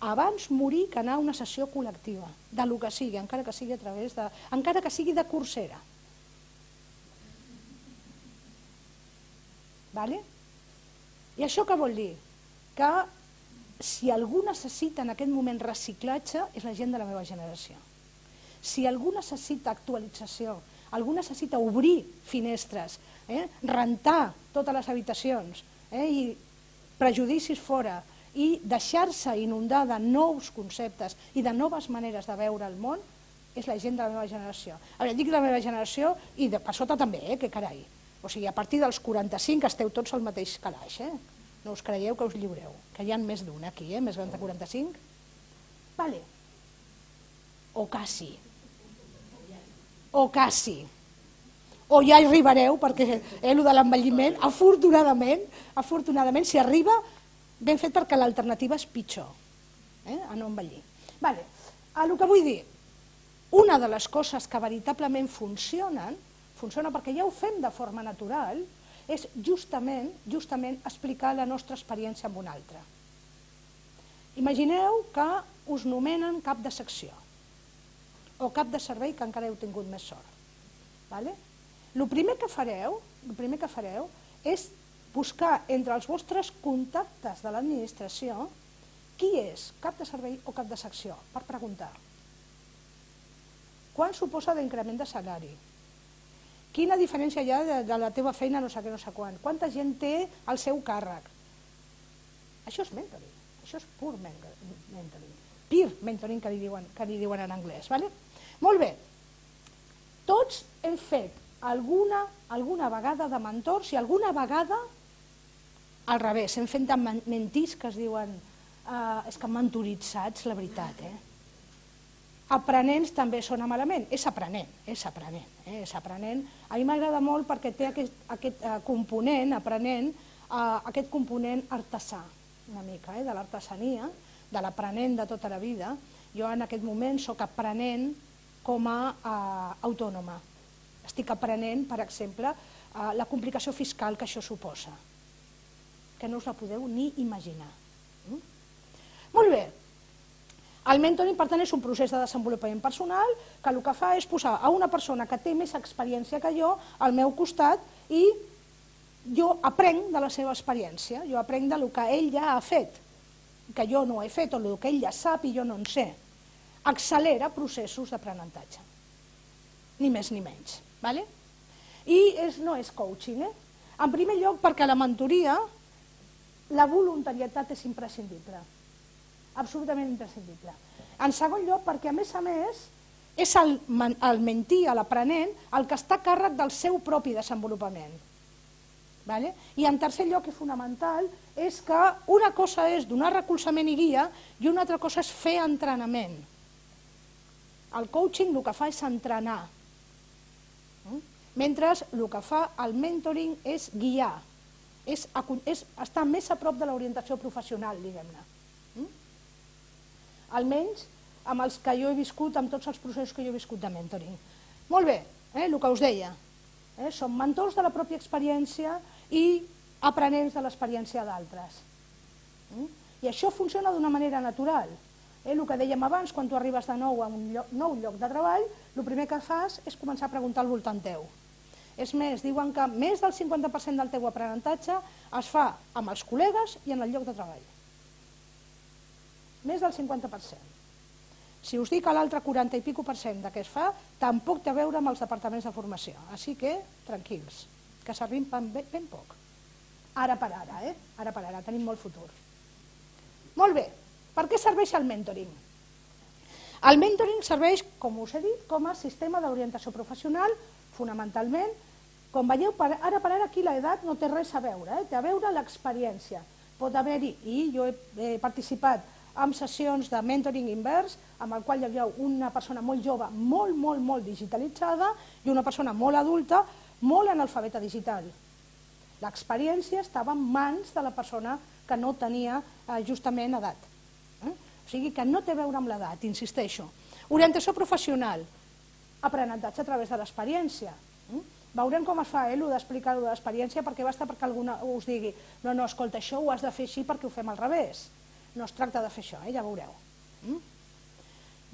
abans morir que anar a una sessió col·lectiva, de lo que sigui, encara que sigui a través de... encara que sigui de Coursera. Vale? I això què vol dir? Que si algú necessita en aquest moment reciclatge, és la gent de la meva generació. Si algú necessita actualització, algú necessita obrir finestres, rentar totes les habitacions i prejudicis fora i deixar-se inundar de nous conceptes i de noves maneres de veure el món, és la gent de la meva generació. Ara, dic de la meva generació i per sota també, que carai. O sigui, a partir dels 45 esteu tots al mateix calaix, no us creieu que us lliureu, que hi ha més d'un aquí, més gran de 45. Vale. O quasi. O quasi. O ja hi arribareu, perquè el de l'envelliment, afortunadament, si arriba, ben fet perquè l'alternativa és pitjor, a no envellir. Vale. El que vull dir, una de les coses que veritablement funciona perquè ja ho fem de forma natural, és justament explicar la nostra experiència amb un altre. Imagineu que us nomenen cap de secció o cap de servei, que encara heu tingut més sort. El primer que fareu és buscar entre els vostres contactes de l'administració qui és cap de servei o cap de secció, per preguntar. Quant suposa d'increment de salari? Quina diferència hi ha de la teva feina no sé què, no sé quan? Quanta gent té al seu càrrec? Això és mentoring, això és pur mentoring. Peer mentoring, que li diuen en anglès. Molt bé, tots hem fet alguna vegada de mentors i alguna vegada al revés, hem fet de mentís que es diuen, és que mentoritzats, la veritat. Aprenents també sona malament, és aprenent. A mi m'agrada molt perquè té aquest component aprenent, aquest component artesà, una mica, de l'artesania, de l'aprenent de tota la vida. Jo en aquest moment soc aprenent com a autònoma. Estic aprenent, per exemple, la complicació fiscal que això suposa, que no us la podeu ni imaginar. Molt bé. El mentoring, per tant, és un procés de desenvolupament personal que el que fa és posar a una persona que té més experiència que jo al meu costat i jo aprenc de la seva experiència, jo aprenc del que ell ja ha fet, que jo no he fet, o del que ell ja sap i jo no en sé. Accelera processos d'aprenentatge, ni més ni menys. I no és coaching. En primer lloc, perquè la mentoria, la voluntarietat és imprescindible. Absolutament imprescindible. En segon lloc, perquè a més, és el mentí, l'aprenent, el que està a càrrec del seu propi desenvolupament. I en tercer lloc, i fonamental, és que una cosa és donar recolzament i guia i una altra cosa és fer entrenament. El coaching el que fa és entrenar, mentre el que fa el mentoring és guiar, és estar més a prop de l'orientació professional, diguem-ne. Almenys amb els que jo he viscut, amb tots els processos que jo he viscut de mentoring. Molt bé, el que us deia, som mentors de la pròpia experiència i aprenents de l'experiència d'altres. I això funciona d'una manera natural. El que dèiem abans, quan tu arribes de nou a un nou lloc de treball, el primer que fas és començar a preguntar al voltant teu. És més, diuen que més del 50% del teu aprenentatge es fa amb els col·legues i en el lloc de treball. Més del 50%. Si us dic que l'altre 40 i pico % que es fa, tampoc té a veure amb els departaments de formació. Així que, tranquils, que servim ben poc. Ara per ara, tenim molt futur. Molt bé, per què serveix el mentoring? El mentoring serveix, com us he dit, com a sistema d'orientació professional, fonamentalment. Com veieu, ara per ara aquí l'edat no té res a veure, té a veure l'experiència. Pot haver-hi, i jo he participat amb sessions de mentoring invers, amb el qual hi havia una persona molt jove, molt digitalitzada, i una persona molt adulta, molt analfabeta digital. L'experiència estava en mans de la persona que no tenia justament edat. O sigui que no té a veure amb l'edat, insisteixo. Orientació professional. aprenentatge a través de l'experiència. Veurem com es fa, allò d'explicar-ho de l'experiència, perquè basta perquè algú us digui no, escolta, això ho has de fer així perquè ho fem al revés. No es tracta de fer això, ja veureu.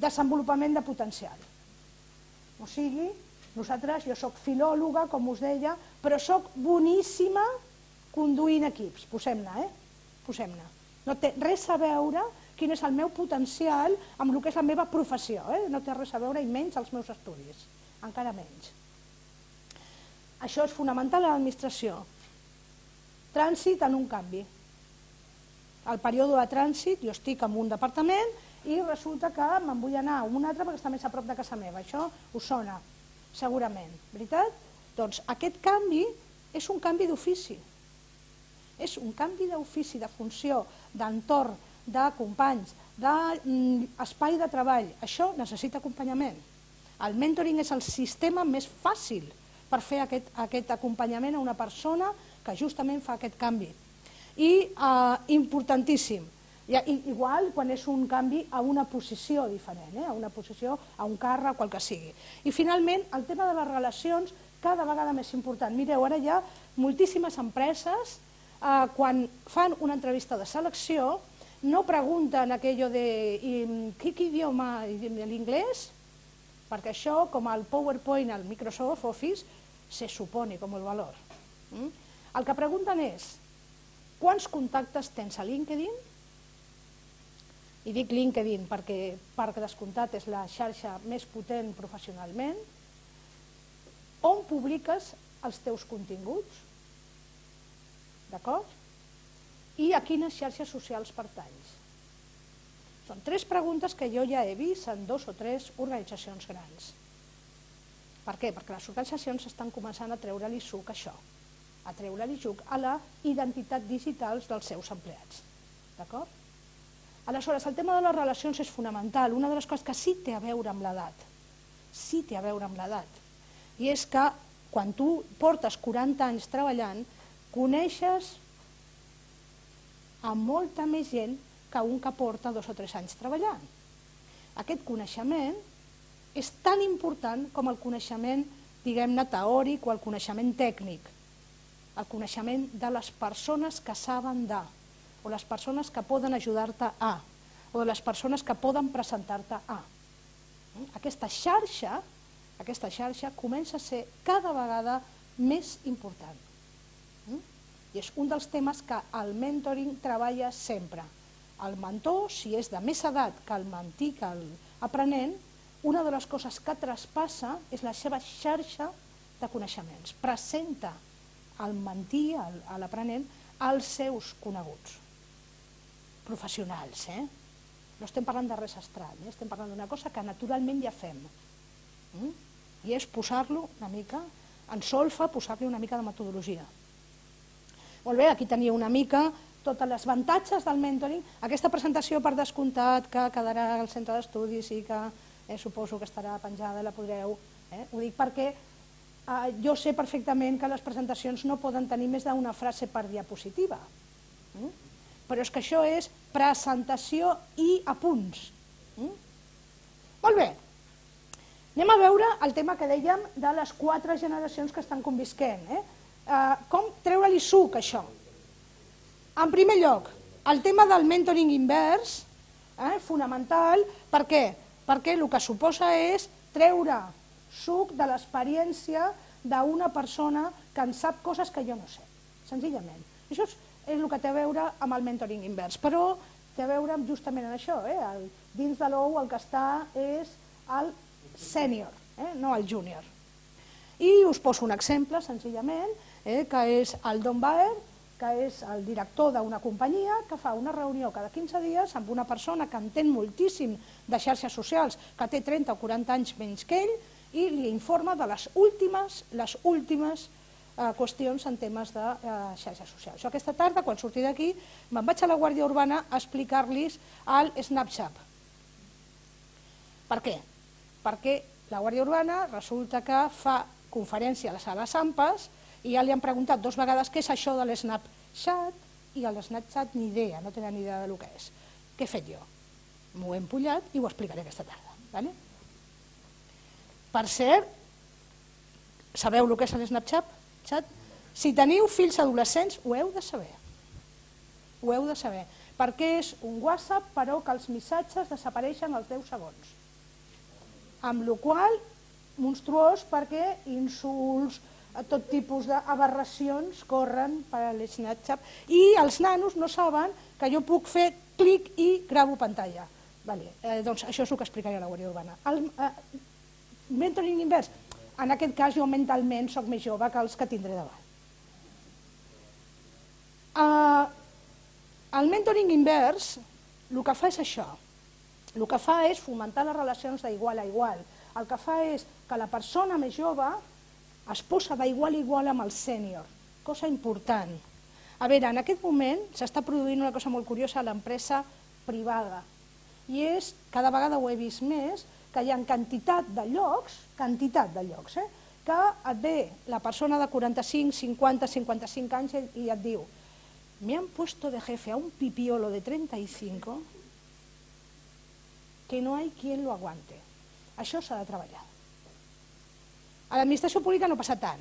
Desenvolupament de potencial. O sigui, jo soc filòloga, com us deia, però soc boníssima conduint equips. Posem-ne, posem-ne. No té res a veure quin és el meu potencial amb el que és la meva professió. No té res a veure, i menys els meus estudis. Encara menys. Això és fonamental a l'administració. Trànsit en un canvi. Al període de trànsit jo estic en un departament i resulta que me'n vull anar a un altre perquè està més a prop de casa meva. Això us sona, segurament, veritat? Doncs aquest canvi és un canvi d'ofici. És un canvi d'ofici, de funció, d'entorn, de companys, d'espai de treball. Això necessita acompanyament. El mentoring és el sistema més fàcil per fer aquest acompanyament a una persona que justament fa aquest canvi. I importantíssim, igual quan és un canvi a una posició diferent, a una posició, a un càrrec, qual que sigui. I finalment, el tema de les relacions cada vegada més important. Mireu, ara hi ha moltíssimes empreses, quan fan una entrevista de selecció, no pregunten aquello de ¿qué idioma? ¿L'inglés? Perquè això, com el PowerPoint al Microsoft Office, se supone com el valor. El que pregunten és quants contactes tens a LinkedIn? I dic LinkedIn perquè, per descomptat, és la xarxa més potent professionalment. On publiques els teus continguts? D'acord? I a quines xarxes socials pertanys? Són 3 preguntes que jo ja he vist en 2 o 3 organitzacions grans. Per què? Perquè les organitzacions estan començant a treure-li suc a això, a treure-li suc a la identitat digital dels seus empleats. D'acord? Aleshores, el tema de les relacions és fonamental. Una de les coses que sí té a veure amb l'edat, i és que quan tu portes 40 anys treballant, coneixes a molta més gent que un que porta 2 o 3 anys treballant. Aquest coneixement és tan important com el coneixement, diguem-ne, teòric o el coneixement tècnic, el coneixement de les persones que saben de, o les persones que poden ajudar-te a, o de les persones que poden presentar-te a. Aquesta xarxa comença a ser cada vegada més important. I és un dels temes que el mentoring treballa sempre. El mentor, si és de més edat que el mentí, que l'aprenent, una de les coses que traspassa és la seva xarxa de coneixements. Presenta al mentí, a l'aprenent, els seus coneguts professionals. No estem parlant de res estrany, estem parlant d'una cosa que naturalment ja fem. I és posar-lo una mica en solfa, posar-li una mica de metodologia. Molt bé, aquí tenia una mica tots els avantatges del mentoring. Aquesta presentació, per descomptat, que quedarà al centre d'estudis i que suposo que estarà penjada, la podreu. Ho dic perquè jo sé perfectament que les presentacions no poden tenir més d'una frase per diapositiva. Però és que això és presentació i apunts. Molt bé. Anem a veure el tema que dèiem de les 4 generacions que estan convisquent. Com treure-li suc a això? En primer lloc, el tema del mentoring invers, fonamental, per què? Perquè el que suposa és treure suc de l'experiència d'una persona que en sap coses que jo no sé, senzillament. Això és el que té a veure amb el mentoring invers, però té a veure justament amb això. Dins de l'ou el que està és el sènior, no el júnior. I us poso un exemple, senzillament, que és el Don Baer, que és el director d'una companyia que fa una reunió cada 15 dies amb una persona que entén moltíssim de xarxes socials, que té 30 o 40 anys menys que ell, i li informa de les últimes qüestions en temes de xarxes socials. Jo aquesta tarda, quan surti d'aquí, me'n vaig a la Guàrdia Urbana a explicar-los el Snapchat. Per què? Perquè la Guàrdia Urbana resulta que fa conferència a les sales AMPAs i ja li han preguntat 2 vegades què és això de l'Snapchat i el Snapchat ni idea, no tenen ni idea del que és. Què he fet jo? M'ho he empullat i ho explicaré aquesta tarda. Per cert, sabeu el que és el Snapchat? Si teniu fills adolescents, ho heu de saber. Ho heu de saber, perquè és un WhatsApp, però que els missatges desapareixen als 10 segons. Amb la qual cosa, monstruós, perquè insults, tot tipus d'aberracions corren per l'Snapchat, i els nanos no saben que jo puc fer clic i gravo pantalla. Doncs això és el que explicaré a la Guàrdia Urbana. El mentoring invers, en aquest cas jo mentalment soc més jove que els que tindré davant. El mentoring invers el que fa és això, el que fa és fomentar les relacions d'igual a igual, el que fa és que la persona més jove es posa d'igual a igual amb el sènior, cosa important. A veure, en aquest moment s'està produint una cosa molt curiosa a l'empresa privada, i és, cada vegada ho he vist més, que hi ha quantitat de llocs, que et ve la persona de 45, 50, 55 anys i et diu: me han puesto de jefe a un pipiolo de 35 que no hay quien lo aguante. Això s'ha de treballar. A l'administració pública no passa tant.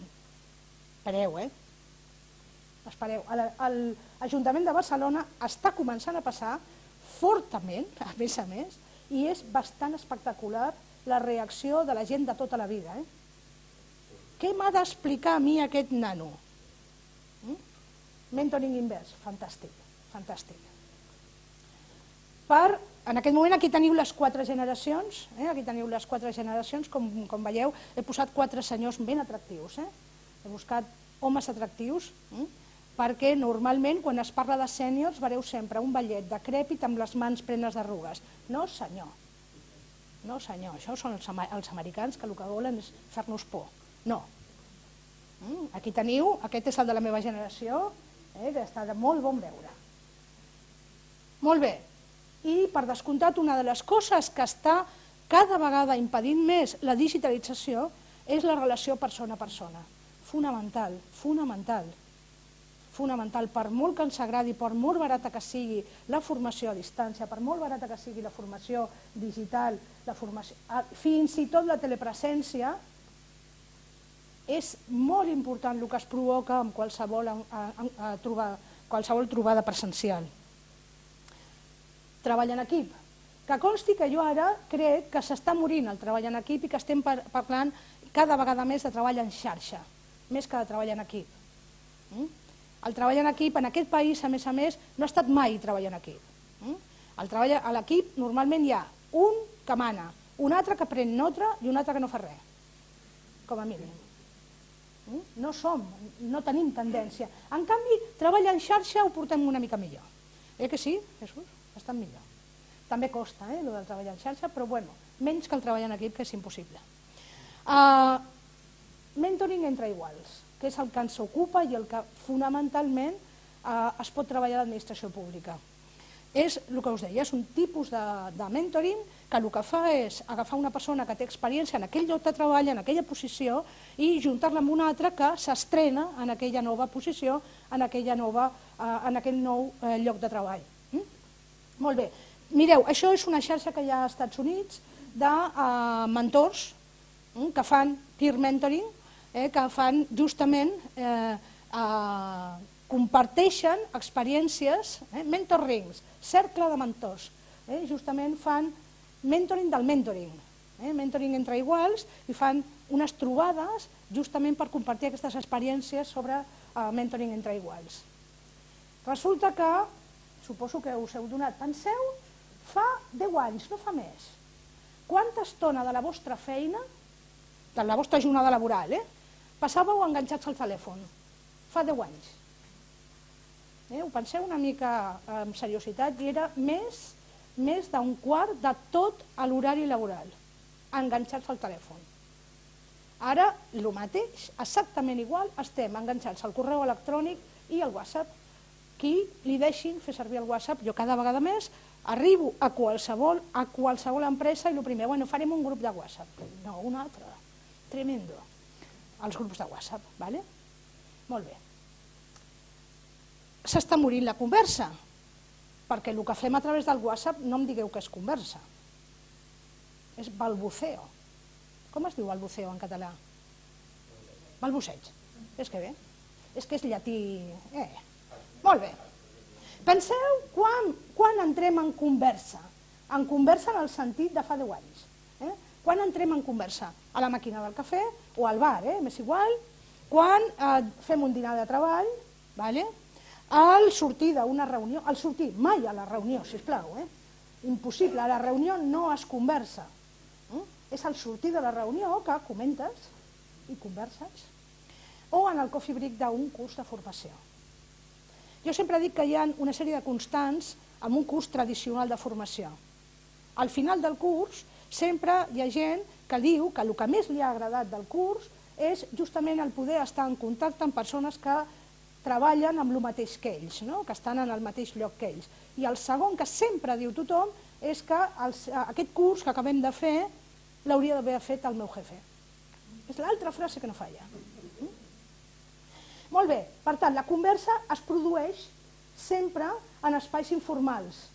Espereu, Espereu. L'Ajuntament de Barcelona està començant a passar fortament, a més, i és bastant espectacular la reacció de la gent de tota la vida. Què m'ha d'explicar a mi aquest nano? Mentoring invers, fantàstic, fantàstic. En aquest moment aquí teniu les 4 generacions, com veieu, he posat 4 senyors ben atractius, he buscat homes atractius, perquè normalment quan es parla de sèniors veureu sempre un vellet decrèpit amb les mans plenes d'arrugues. No senyor, això són els americans que el que volen és fer-nos por. No. Aquí teniu, aquest és el de la meva generació, que està de molt bon veure. Molt bé. I, per descomptat, una de les coses que està cada vegada impedint més la digitalització és la relació persona a persona. Fonamental, fonamental. Fonamental, per molt que ens agradi, per molt barata que sigui la formació a distància, per molt barata que sigui la formació digital, fins i tot la telepresència, és molt important el que es provoca amb qualsevol trobada presencial. Treball en equip. Que consti que jo ara crec que s'està morint el treball en equip i que estem parlant cada vegada més de treball en xarxa, més que de treball en equip. El treball en equip en aquest país, a més, no ha estat mai treball en equip. El treball a l'equip normalment hi ha un que mana, un altre que pren nota i un altre que no fa res, com a mínim. No tenim tendència. En canvi, treball en xarxa ho portem una mica millor. Que sí, Jesús? Bastant millor. També costa, el del treball en xarxa, però menys que el treball en equip, que és impossible. Mentoring entre iguals, que és el que ens ocupa i el que fonamentalment es pot treballar a l'administració pública. És el que us deia, és un tipus de mentoring que el que fa és agafar una persona que té experiència en aquell lloc de treball, en aquella posició, i juntar-la amb una altra que s'estrena en aquella nova posició, en aquell nou lloc de treball. Molt bé. Mireu, això és una xarxa que hi ha als Estats Units de mentors que fan peer mentoring, que fan justament, comparteixen experiències, mentor rings, cercle de mentors, justament fan mentoring del mentoring, mentoring entre iguals, i fan unes trobades justament per compartir aquestes experiències sobre mentoring entre iguals. Resulta que, suposo que us heu donat, penseu, fa 10 anys, no fa més, quanta estona de la vostra feina, de la vostra jornada laboral, passàveu enganxats al telèfon? Fa 10 anys. Ho penseu una mica amb seriositat i era més d'un quart de tot l'horari laboral, enganxats al telèfon. Ara, el mateix, exactament igual, estem enganxats al correu electrònic i al WhatsApp. Qui li deixin fer servir el WhatsApp, jo cada vegada més arribo a qualsevol empresa i el primer, farem un grup de WhatsApp. No, un altre, tremendo, els grups de WhatsApp, vale? Molt bé. S'està morint la conversa, perquè el que fem a través del WhatsApp no em digueu que és conversa, és balbuceo. Com es diu balbuceo en català? Balbuceig. És que bé. És que és llatí. Molt bé. Penseu quan entrem en conversa. En conversa en el sentit de fa 10 anys. Quan entrem en conversa? A la màquina del cafè o al bar, m'és igual. Quan fem un dinar de treball, al sortir d'una reunió, al sortir, mai a la reunió, sisplau, impossible, a la reunió no es conversa. És al sortir de la reunió que comentes i converses. O en el coffee break d'un curs de formació. Jo sempre dic que hi ha una sèrie de constants en un curs tradicional de formació. Al final del curs sempre hi ha gent que diu que el que més li ha agradat del curs és justament el poder estar en contacte amb persones que treballen amb el mateix que ells, que estan en el mateix lloc que ells. I el segon que sempre diu tothom és que aquest curs que acabem de fer l'hauria d'haver fet el meu jefe. És l'altra frase que no falla. Molt bé, per tant, la conversa es produeix sempre en espais informals,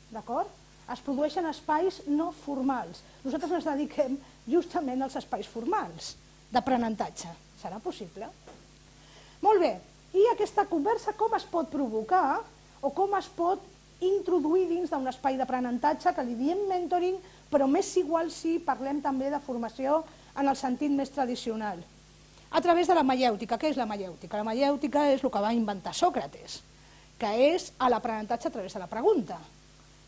d'acord? Es produeix en espais no formals. Nosaltres ens dediquem justament als espais formals d'aprenentatge. Serà possible? Molt bé, i aquesta conversa com es pot provocar o com es pot introduir dins d'un espai d'aprenentatge que li diem mentoring, però m'és igual si parlem també de formació en el sentit més tradicional. A través de la maièutica. Què és la maièutica? La maièutica és el que va inventar Sòcrates, que és l'aprenentatge a través de la pregunta.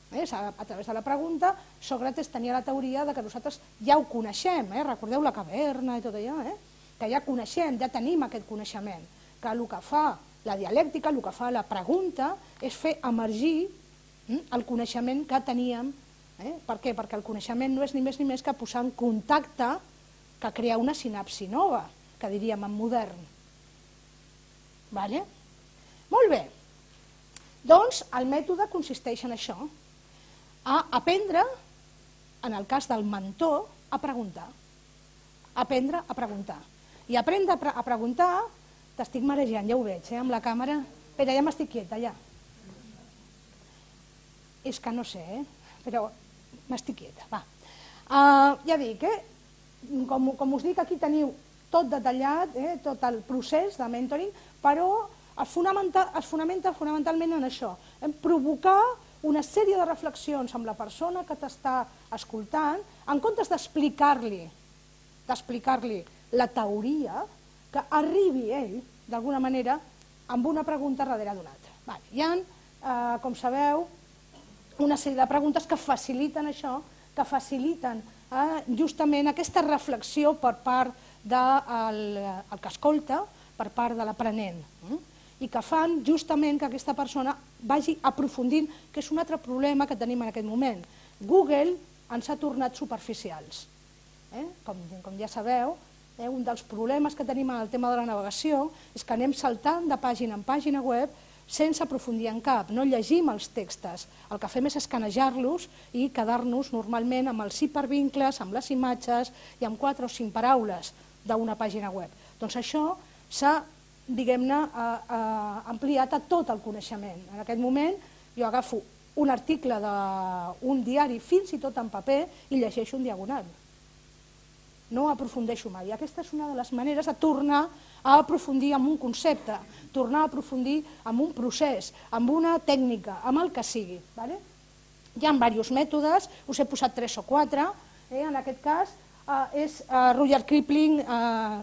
A través de la pregunta, Sòcrates tenia la teoria que nosaltres ja ho coneixem, recordeu la caverna i tot allò, que ja coneixem, ja tenim aquest coneixement, que el que fa la dialèctica, el que fa la pregunta, és fer emergir el coneixement que teníem. Per què? Perquè el coneixement no és ni més ni més que posar en contacte, que crea una sinapsi nova, que diríem en modern. Molt bé. Doncs el mètode consisteix en això, a aprendre, en el cas del mentor, a preguntar. Aprendre a preguntar. I aprendre a preguntar, t'estic marejant, ja ho veig, amb la càmera. Espera, ja m'estic quieta, ja. És que no sé, però m'estic quieta, va. Ja dic, com us dic, aquí teniu tot detallat, tot el procés de mentoring, però es fonamenta fonamentalment en això, en provocar una sèrie de reflexions amb la persona que t'està escoltant, en comptes d'explicar-li la teoria, que arribi ell, d'alguna manera, amb una pregunta darrere d'una altra. Hi ha, com sabeu, una sèrie de preguntes que faciliten això, que faciliten justament aquesta reflexió per part del que escolta, per part de l'aprenent, i que fan justament que aquesta persona vagi aprofundint, que és un altre problema que tenim en aquest moment. Google ens ha tornat superficials. Com ja sabeu, un dels problemes que tenim en el tema de la navegació és que anem saltant de pàgina en pàgina web sense aprofundir en cap, no llegim els textos. El que fem és escanejar-los i quedar-nos normalment amb els hipervincles, amb les imatges i amb 4 o 5 paraules d'una pàgina web. Doncs això s'ha, diguem-ne, ampliat a tot el coneixement. En aquest moment jo agafo un article d'un diari, fins i tot en paper, i llegeixo en diagonal. No aprofundeixo mai. Aquesta és una de les maneres de tornar a aprofundir en un concepte, tornar a aprofundir en un procés, en una tècnica, en el que sigui. Hi ha diversos mètodes, us he posat 3 o 4, en aquest cas és Rudyard Kipling,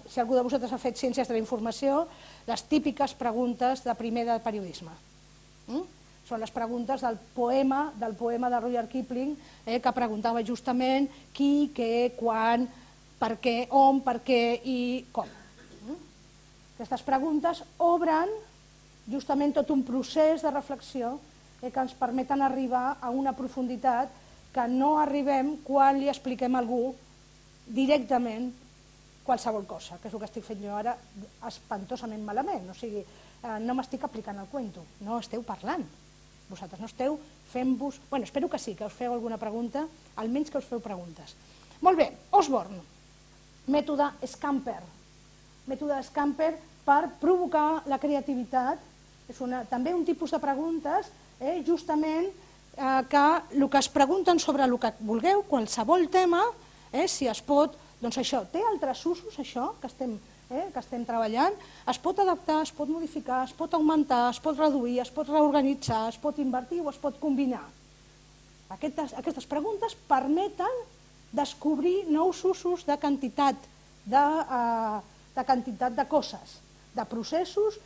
si algú de vosaltres ha fet ciències de la informació, les típiques preguntes de primer de periodisme. Són les preguntes del poema de Rudyard Kipling, que preguntava justament qui, què, quan, per què, on, per què i com. Aquestes preguntes obren justament tot un procés de reflexió que ens permeten arribar a una profunditat que no arribem quan li expliquem a algú directament qualsevol cosa, que és el que estic fent jo ara espantosament malament. O sigui, no m'estic aplicant el cuento, no esteu parlant. Vosaltres no esteu fent-vos... Bueno, espero que sí, que us feu alguna pregunta, almenys que us feu preguntes. Molt bé, Osborne, mètode Scamper. Mètode Scamper per provocar la creativitat. És també un tipus de preguntes, justament, que el que es pregunten sobre el que vulgueu, qualsevol tema, si es pot Doncs això, té altres usos, això, que estem treballant, es pot adaptar, es pot modificar, es pot augmentar, es pot reduir, es pot reorganitzar, es pot invertir o es pot combinar. Aquestes preguntes permeten descobrir nous usos de quantitat de coses, de processos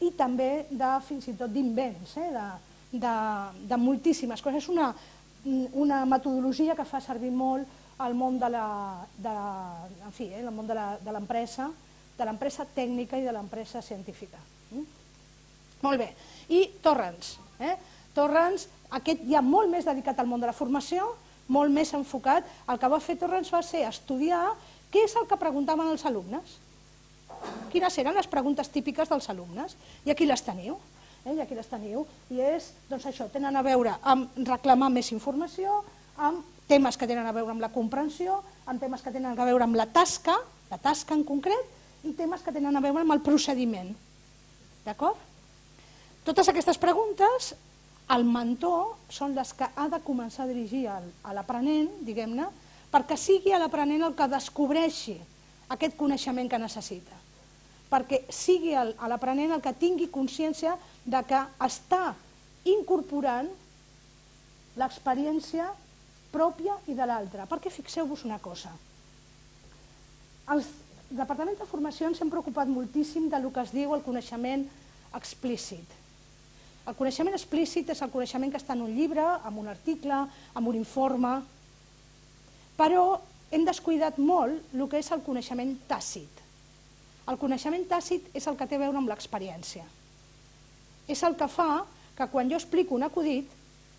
i també fins i tot d'invents, de moltíssimes coses. És una metodologia que fa servir molt al món de l'empresa, de l'empresa tècnica i de l'empresa científica. Molt bé. I Torrens. Torrens, aquest ja molt més dedicat al món de la formació, molt més enfocat. El que va fer Torrens va ser estudiar què és el que preguntaven els alumnes. Quines eren les preguntes típiques dels alumnes. I aquí les teniu. I aquí les teniu. I és, doncs això, tenen a veure amb reclamar més informació, amb temes que tenen a veure amb la comprensió, amb temes que tenen a veure amb la tasca en concret, i temes que tenen a veure amb el procediment. D'acord? Totes aquestes preguntes, el mentor són les que ha de començar a dirigir a l'aprenent, diguem-ne, perquè sigui l'aprenent el que descobreixi aquest coneixement que necessita. Perquè sigui l'aprenent el que tingui consciència de que està incorporant l'experiència pròpia i de l'altra. Perquè fixeu-vos una cosa. Els departaments de formació ens hem preocupat moltíssim del que es diu el coneixement explícit. El coneixement explícit és el coneixement que està en un llibre, en un article, en un informe, però hem descuidat molt el que és el coneixement tàcit. El coneixement tàcit és el que té a veure amb l'experiència. És el que fa que quan jo explico un acudit,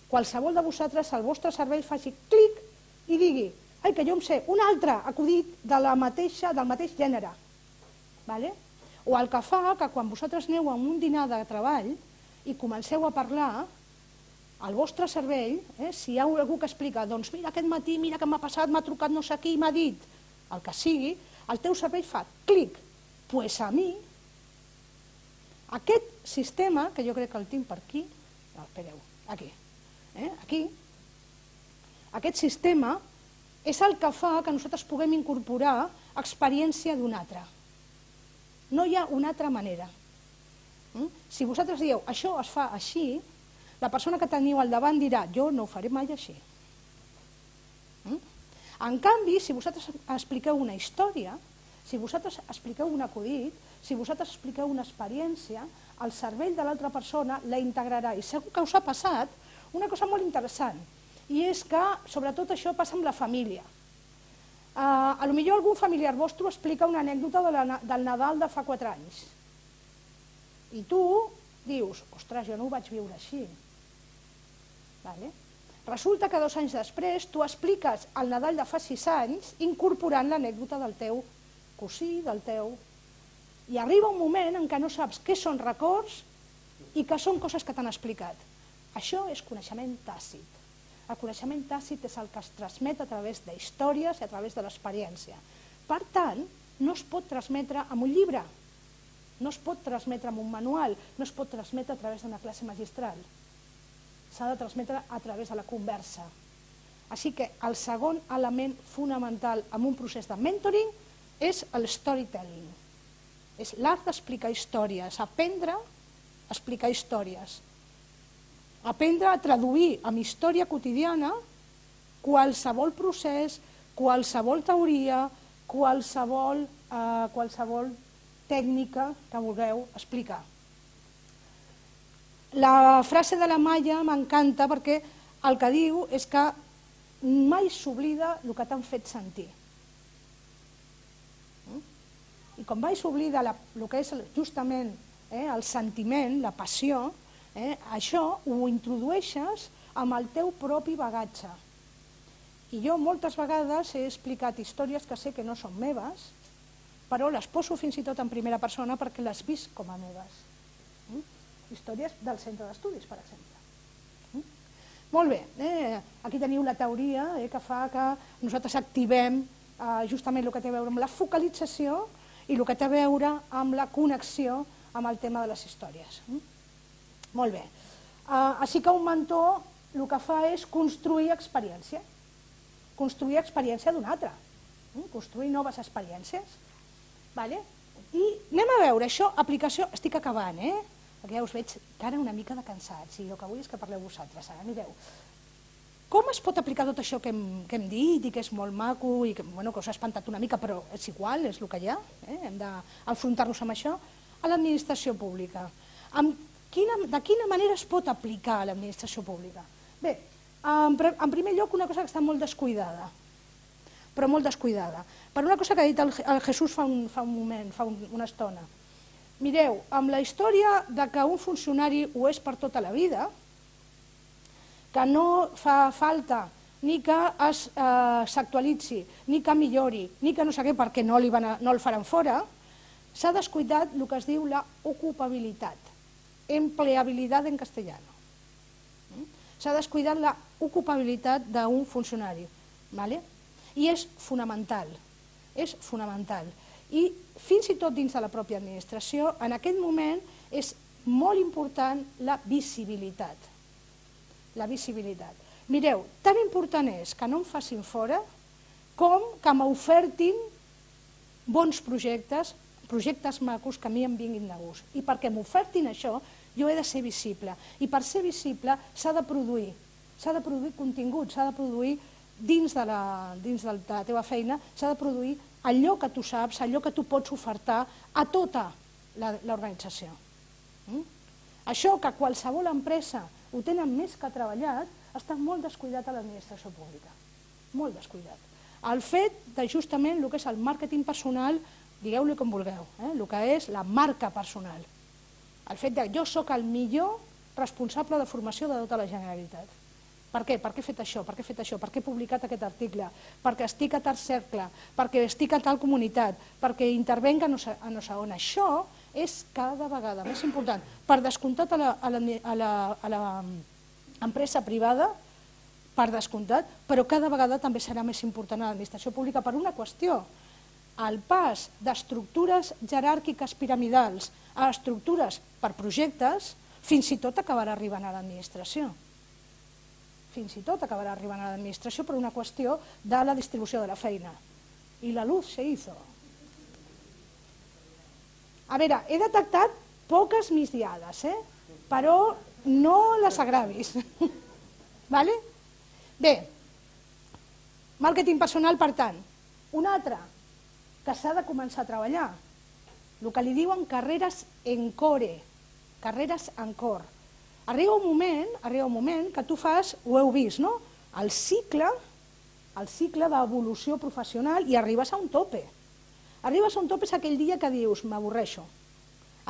qualsevol de vosaltres, el vostre cervell faci clic i digui ai, que jo em sé un altre acudit del mateix gènere. O el que fa que quan vosaltres aneu a un dinar de treball i comenceu a parlar, el vostre cervell, si hi ha algú que explica, doncs mira aquest matí, mira què m'ha passat, m'ha trucat no sé qui i m'ha dit, el que sigui, el teu cervell fa clic. Doncs a mi, aquest sistema, que jo crec que el tinc per aquí, espereu, aquí, aquest sistema és el que fa que nosaltres puguem incorporar experiència d'un altre. No hi ha una altra manera. Si vosaltres dieu, això es fa així, la persona que teniu al davant dirà, jo no ho faré mai així. En canvi, si vosaltres expliqueu una història, si vosaltres expliqueu un acudit, si vosaltres expliqueu una experiència, el cervell de l'altra persona la integrarà. I segur que us ha passat una cosa molt interessant, i és que, sobretot, això passa amb la família. Potser algun familiar vostre explica una anècdota del Nadal de fa 4 anys. I tu dius, ostres, jo no ho vaig viure així. Resulta que 2 anys després tu expliques el Nadal de fa 6 anys incorporant l'anècdota del teu cosí, del teu... I arriba un moment en què no saps què són records i què són coses que t'han explicat. Això és coneixement tàcit. El coneixement tàcit és el que es transmet a través d'històries i a través de l'experiència. Per tant, no es pot transmetre amb un llibre, no es pot transmetre amb un manual, no es pot transmetre a través d'una classe magistral. S'ha de transmetre a través de la conversa. Així que el segon element fonamental en un procés de mentoring és el storytelling. És l'art d'explicar històries, aprendre a explicar històries. Aprendre a traduir en història quotidiana qualsevol procés, qualsevol teoria, qualsevol tècnica que vulgueu explicar. La frase de la Maya m'encanta perquè el que diu és que mai s'oblida el que t'han fet sentir. I com mai s'oblida el que és justament el sentiment, la passió, això ho introdueixes amb el teu propi bagatge. I jo moltes vegades he explicat històries que sé que no són meves, però les poso fins i tot en primera persona perquè les visc com a meves. Històries del centre d'estudis, per exemple. Molt bé, aquí teniu la teoria que fa que nosaltres activem justament el que té a veure amb la focalització i el que té a veure amb la connexió amb el tema de les històries. Molt bé. Així que un mentor el que fa és construir experiència d'un altre. construir noves experiències. I anem a veure això, aplicació, estic acabant, perquè ja us veig cara una mica de cansats, i el que vull és que parleu vosaltres, ara mireu. Com es pot aplicar tot això que hem dit i que és molt maco i que us ha espantat una mica, però és igual, és el que hi ha, hem d'enfrontar-nos amb això, a l'administració pública? De quina manera es pot aplicar a l'administració pública? Bé, en primer lloc, una cosa que està molt descuidada, però molt descuidada, per una cosa que ha dit el Jesús fa un moment, fa una estona. Mireu, amb la història que un funcionari ho és per tota la vida, que no fa falta ni que s'actualitzi, ni que millori, ni que no sé què perquè no el faran fora, s'ha descuidat el que es diu l'ocupabilitat, empleabilitat en castellano. S'ha descuidat l'ocupabilitat d'un funcionari. I és fonamental, I fins i tot dins de la pròpia administració, en aquest moment és molt important la visibilitat. Mireu, tan important és que no em facin fora com que m'ofertin bons projectes, projectes macos que a mi em vinguin de gust. I perquè m'ofertin això, jo he de ser visible. I per ser visible s'ha de produir contingut, s'ha de produir dins de la teva feina, s'ha de produir allò que tu saps, allò que tu pots ofertar a tota l'organització. Això que qualsevol empresa ho tenen més que treballat, està molt descuidat a l'administració pública, molt descuidat. El fet de justament el que és el màrqueting personal, digueu-li com vulgueu, el que és la marca personal. El fet de jo soc el millor responsable de formació de tota la Generalitat. Per què? Per què he fet això? Per què he fet això? Per què he publicat aquest article? Perquè estic a tal cercle, perquè estic a tal comunitat, perquè intervenc a no sé on. Això és cada vegada més important. Per descomptat a l'empresa privada, per descomptat, però cada vegada també serà més important a l'administració pública per una qüestió. El pas d'estructures jeràrquiques piramidals a estructures per projectes fins i tot acabarà arribant a l'administració. Fins i tot acabarà arribant a l'administració per una qüestió de la distribució de la feina. I la luz se hizo. A veure, he detectat poques migdiades, però no les agravis. Bé, màrqueting personal, per tant. Un altre, que s'ha de començar a treballar, el que li diuen carreres en core, carreres en cor. Arriba un moment que tu fas, ho heu vist, no? El cicle d'evolució professional i arribes a un tope. Arribes a un tope és aquell dia que dius, m'avorreixo.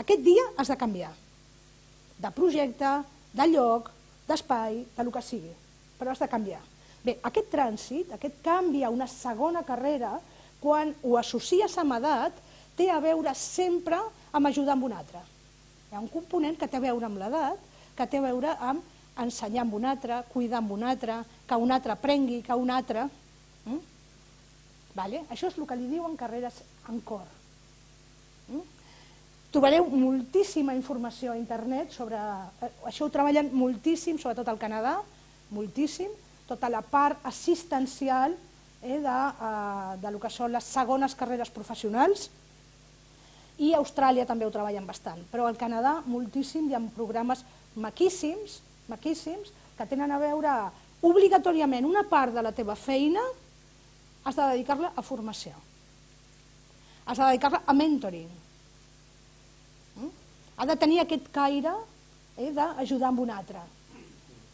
Aquest dia has de canviar. De projecte, de lloc, d'espai, del que sigui. Però has de canviar. Bé, aquest trànsit, aquest canvi a una segona carrera, quan ho associes amb edat, té a veure sempre amb ajudar amb un altre. Hi ha un component que té a veure amb l'edat, que té a veure amb ensenyar amb un altre, cuidar amb un altre, que un altre aprengui, que un altre... Això és el que li diuen carreres en cor. Trobareu moltíssima informació a internet sobre... Això ho treballen moltíssim, sobretot al Canadà, moltíssim, tota la part assistencial del que són les segones carreres professionals, i a Austràlia també ho treballen bastant, però al Canadà moltíssim, hi ha programes maquíssims, que tenen a veure obligatòriament una part de la teva feina has de dedicar-la a formació, has de dedicar-la a mentoring, ha de tenir aquest caire d'ajudar amb un altre.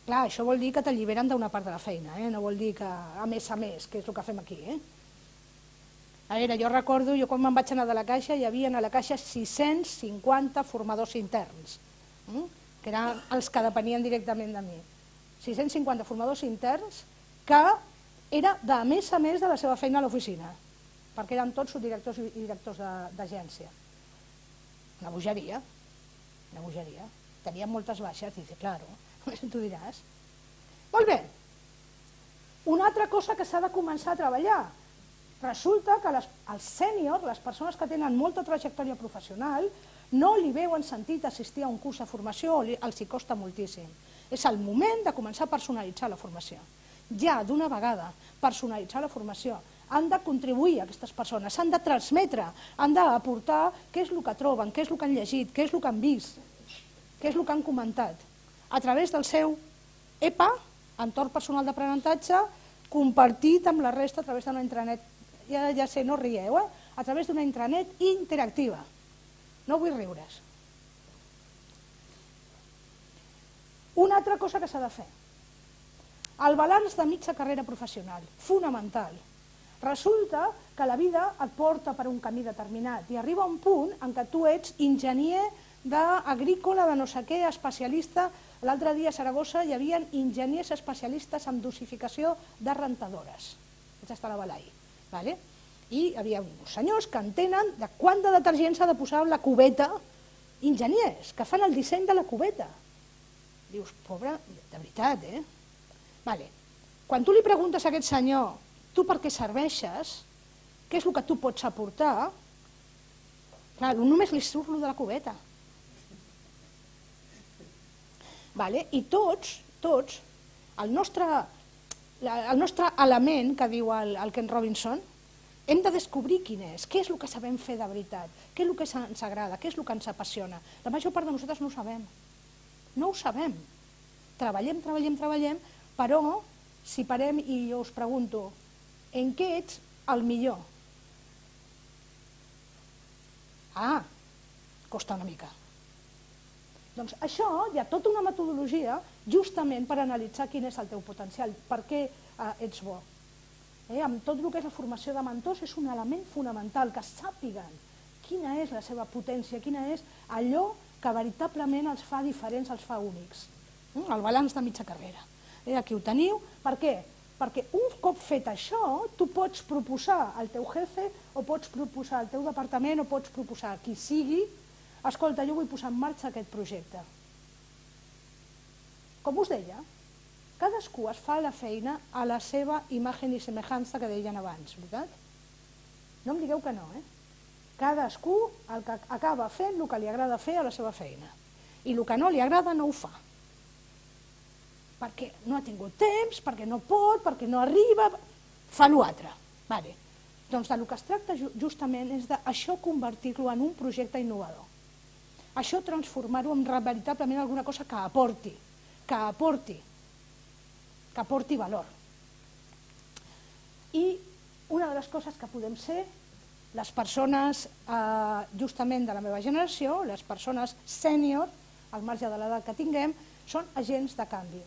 Clar, això vol dir que t'alliberen d'una part de la feina, no vol dir que a més, que és el que fem aquí. A veure, jo recordo, quan me'n vaig anar de la Caixa, hi havia a la Caixa 650 formadors interns, que eren els que depenien directament de mi. 650 formadors interns que era de més a més de la seva feina a l'oficina, perquè eren tots subdirectors i directors d'agència. Una bogeria, una bogeria. Tenien moltes baixes, dice, claro, tu diràs. Molt bé, una altra cosa que s'ha de començar a treballar. Resulta que els sèniors, les persones que tenen molta trajectòria professional, no li veuen sentit assistir a un curs de formació, els hi costa moltíssim. És el moment de començar a personalitzar la formació. Ja, d'una vegada, personalitzar la formació. han de contribuir a aquestes persones, s'han de transmetre, han d'aportar què és el que troben, què és el que han llegit, què és el que han vist, què és el que han comentat, a través del seu EPA, entorn personal d'aprenentatge, compartit amb la resta a través d'una intranet, ja sé, no rieu, a través d'una intranet interactiva. No vull riure's. Una altra cosa que s'ha de fer. El balanç de mitja carrera professional, fonamental. Resulta que la vida et porta per un camí determinat i arriba un punt en què tu ets enginyer agrícola de no sé què, especialista. L'altre dia a Saragossa hi havia enginyers especialistes en dosificació de rentadores. Vaig estar a la Balai. I hi havia uns senyors que entenen de quant de detergent s'ha de posar a la cubeta, enginyers que fan el disseny de la cubeta. Dius, pobre, de veritat, Quan tu li preguntes a aquest senyor tu per què serveixes, què és el que tu pots aportar, clar, només li surt lo de la cubeta. I tots, el nostre element, que diu el Ken Robinson, hem de descobrir quin és, què és el que sabem fer de veritat, què és el que ens agrada, què és el que ens apassiona. La major part de nosaltres no ho sabem. No ho sabem. Treballem, però si parem i jo us pregunto en què ets el millor? Costa una mica. Doncs això hi ha tota una metodologia justament per analitzar quin és el teu potencial, per què ets bo. Amb tot el que és la formació de mentors és un element fonamental, que sàpiguen quina és la seva potència, quina és allò que veritablement els fa diferents, els fa únics. El balanç de mitja carrera. Aquí ho teniu. Per què? Perquè un cop fet això, tu pots proposar al teu jefe, o pots proposar al teu departament, o pots proposar a qui sigui, escolta, jo vull posar en marxa aquest projecte. Com us deia, cadascú es fa la feina a la seva imatge i semejança que deien abans, veritat? No em digueu que no, Cadascú acaba fent el que li agrada fer a la seva feina. I el que no li agrada no ho fa. Perquè no ha tingut temps, perquè no pot, perquè no arriba, fa l'altre. Doncs del que es tracta justament és d'això convertir-lo en un projecte innovador. Això transformar-ho en veritablement alguna cosa que aporti valor. I una de les coses que podem ser, les persones justament de la meva generació, les persones sènior, al marge de l'edat que tinguem, són agents de canvi.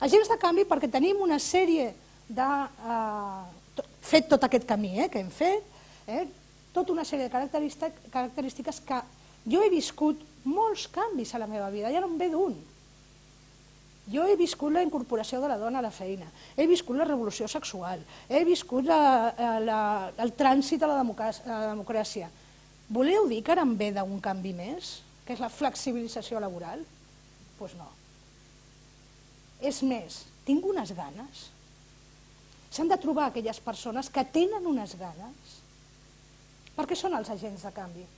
Agents de canvi perquè tenim una sèrie de... fet tot aquest camí que hem fet, tota una sèrie de característiques que jo he viscut molts canvis a la meva vida, ja no en ve d'un. Jo he viscut la incorporació de la dona a la feina, he viscut la revolució sexual, he viscut el trànsit a la democràcia. Voleu dir que ara em ve d'un canvi més, que és la flexibilització laboral? Doncs no. És més, tinc unes ganes. S'han de trobar aquelles persones que tenen unes ganes, perquè són els agents de canvi.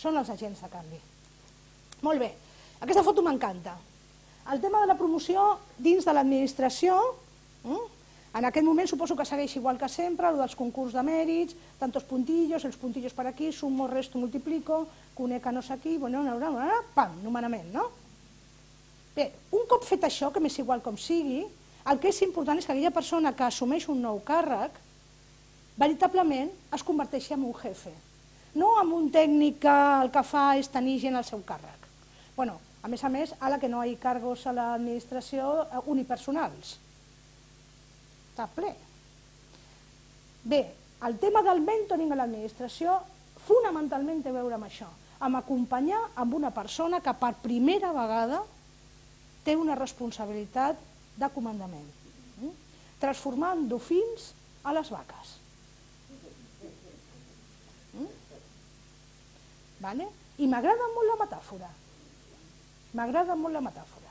Són els agents de canvi. Molt bé, aquesta foto m'encanta. El tema de la promoció dins de l'administració, en aquest moment suposo que segueix igual que sempre, el dels concurs de mèrits, tantos puntillos, els puntillos per aquí, sumo, resto, multiplico, conec a no sé qui, pam, nomenament, no? Bé, un cop fet això, que m'és igual com sigui, el que és important és que aquella persona que assumeix un nou càrrec, veritablement es converteixi en un jefe, no en un tècnic que el que fa és tenir gent al seu càrrec. A més, ara que no hi ha càrrecs a l'administració unipersonals. Està ple. Bé, el tema del mentoring a l'administració fonamentalment té a veure amb això, amb acompanyar amb una persona que per primera vegada té una responsabilitat de comandament, transformant dofins a les vaques. I m'agrada molt la metàfora. M'agrada molt la metàfora.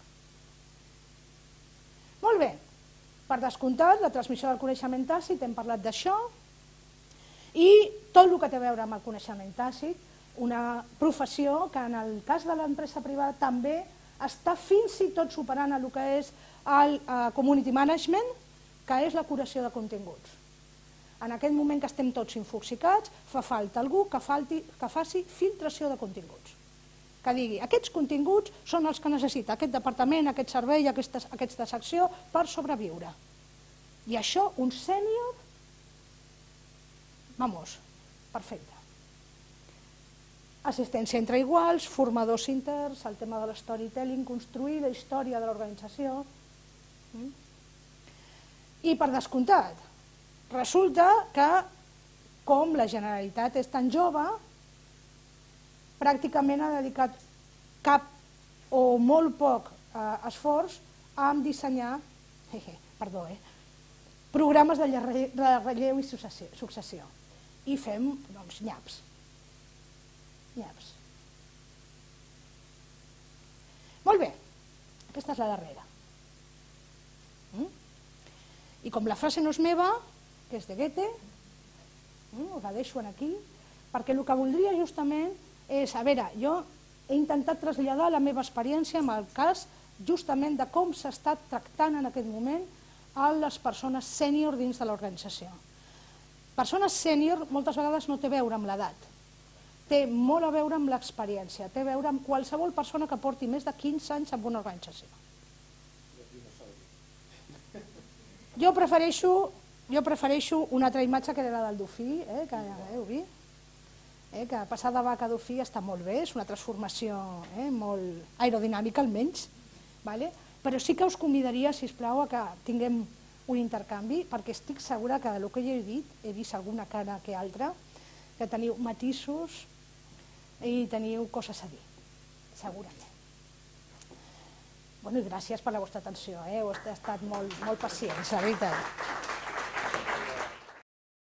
Molt bé, per descomptat, la transmissió del coneixement tàcit, hem parlat d'això, i tot el que té a veure amb el coneixement tàcit, una professió que en el cas de l'empresa privada també està fins i tot superant el que és el community management, que és la curació de continguts. En aquest moment que estem tots infoxicats, fa falta algú que faci filtració de continguts. Que digui, aquests continguts són els que necessita aquest departament, aquest servei, aquesta secció per sobreviure. I això, un sènior, vamos, perfecte. Assistència entre iguals, formadors interns, el tema de l'storytelling, construir la història de l'organització. I per descomptat, resulta que, com la Generalitat és tan jove, pràcticament ha dedicat cap o molt poc esforç a dissenyar programes de relleu i successió. I fem, doncs, nyaps. Molt bé, aquesta és la darrera. I com la frase no és meva, que és de Goethe, us la deixo aquí, perquè el que voldria justament és, a veure, jo he intentat traslladar la meva experiència en el cas justament de com s'està tractant en aquest moment a les persones sènior dins de l'organització. Persones sènior moltes vegades no té a veure amb l'edat, té molt a veure amb l'experiència, té a veure amb qualsevol persona que porti més de 15 anys en una organització. Jo prefereixo una altra imatge que era la del dofí, que heu vist, que passar de vaca a dofí està molt bé, és una transformació molt aerodinàmica almenys, però sí que us convidaria, sisplau, a que tinguem un intercanvi, perquè estic segura que del que jo he dit, he vist alguna cara que altra, que teniu matisos i teniu coses a dir, segurament. I gràcies per la vostra atenció, heu estat molt pacients, la veritat.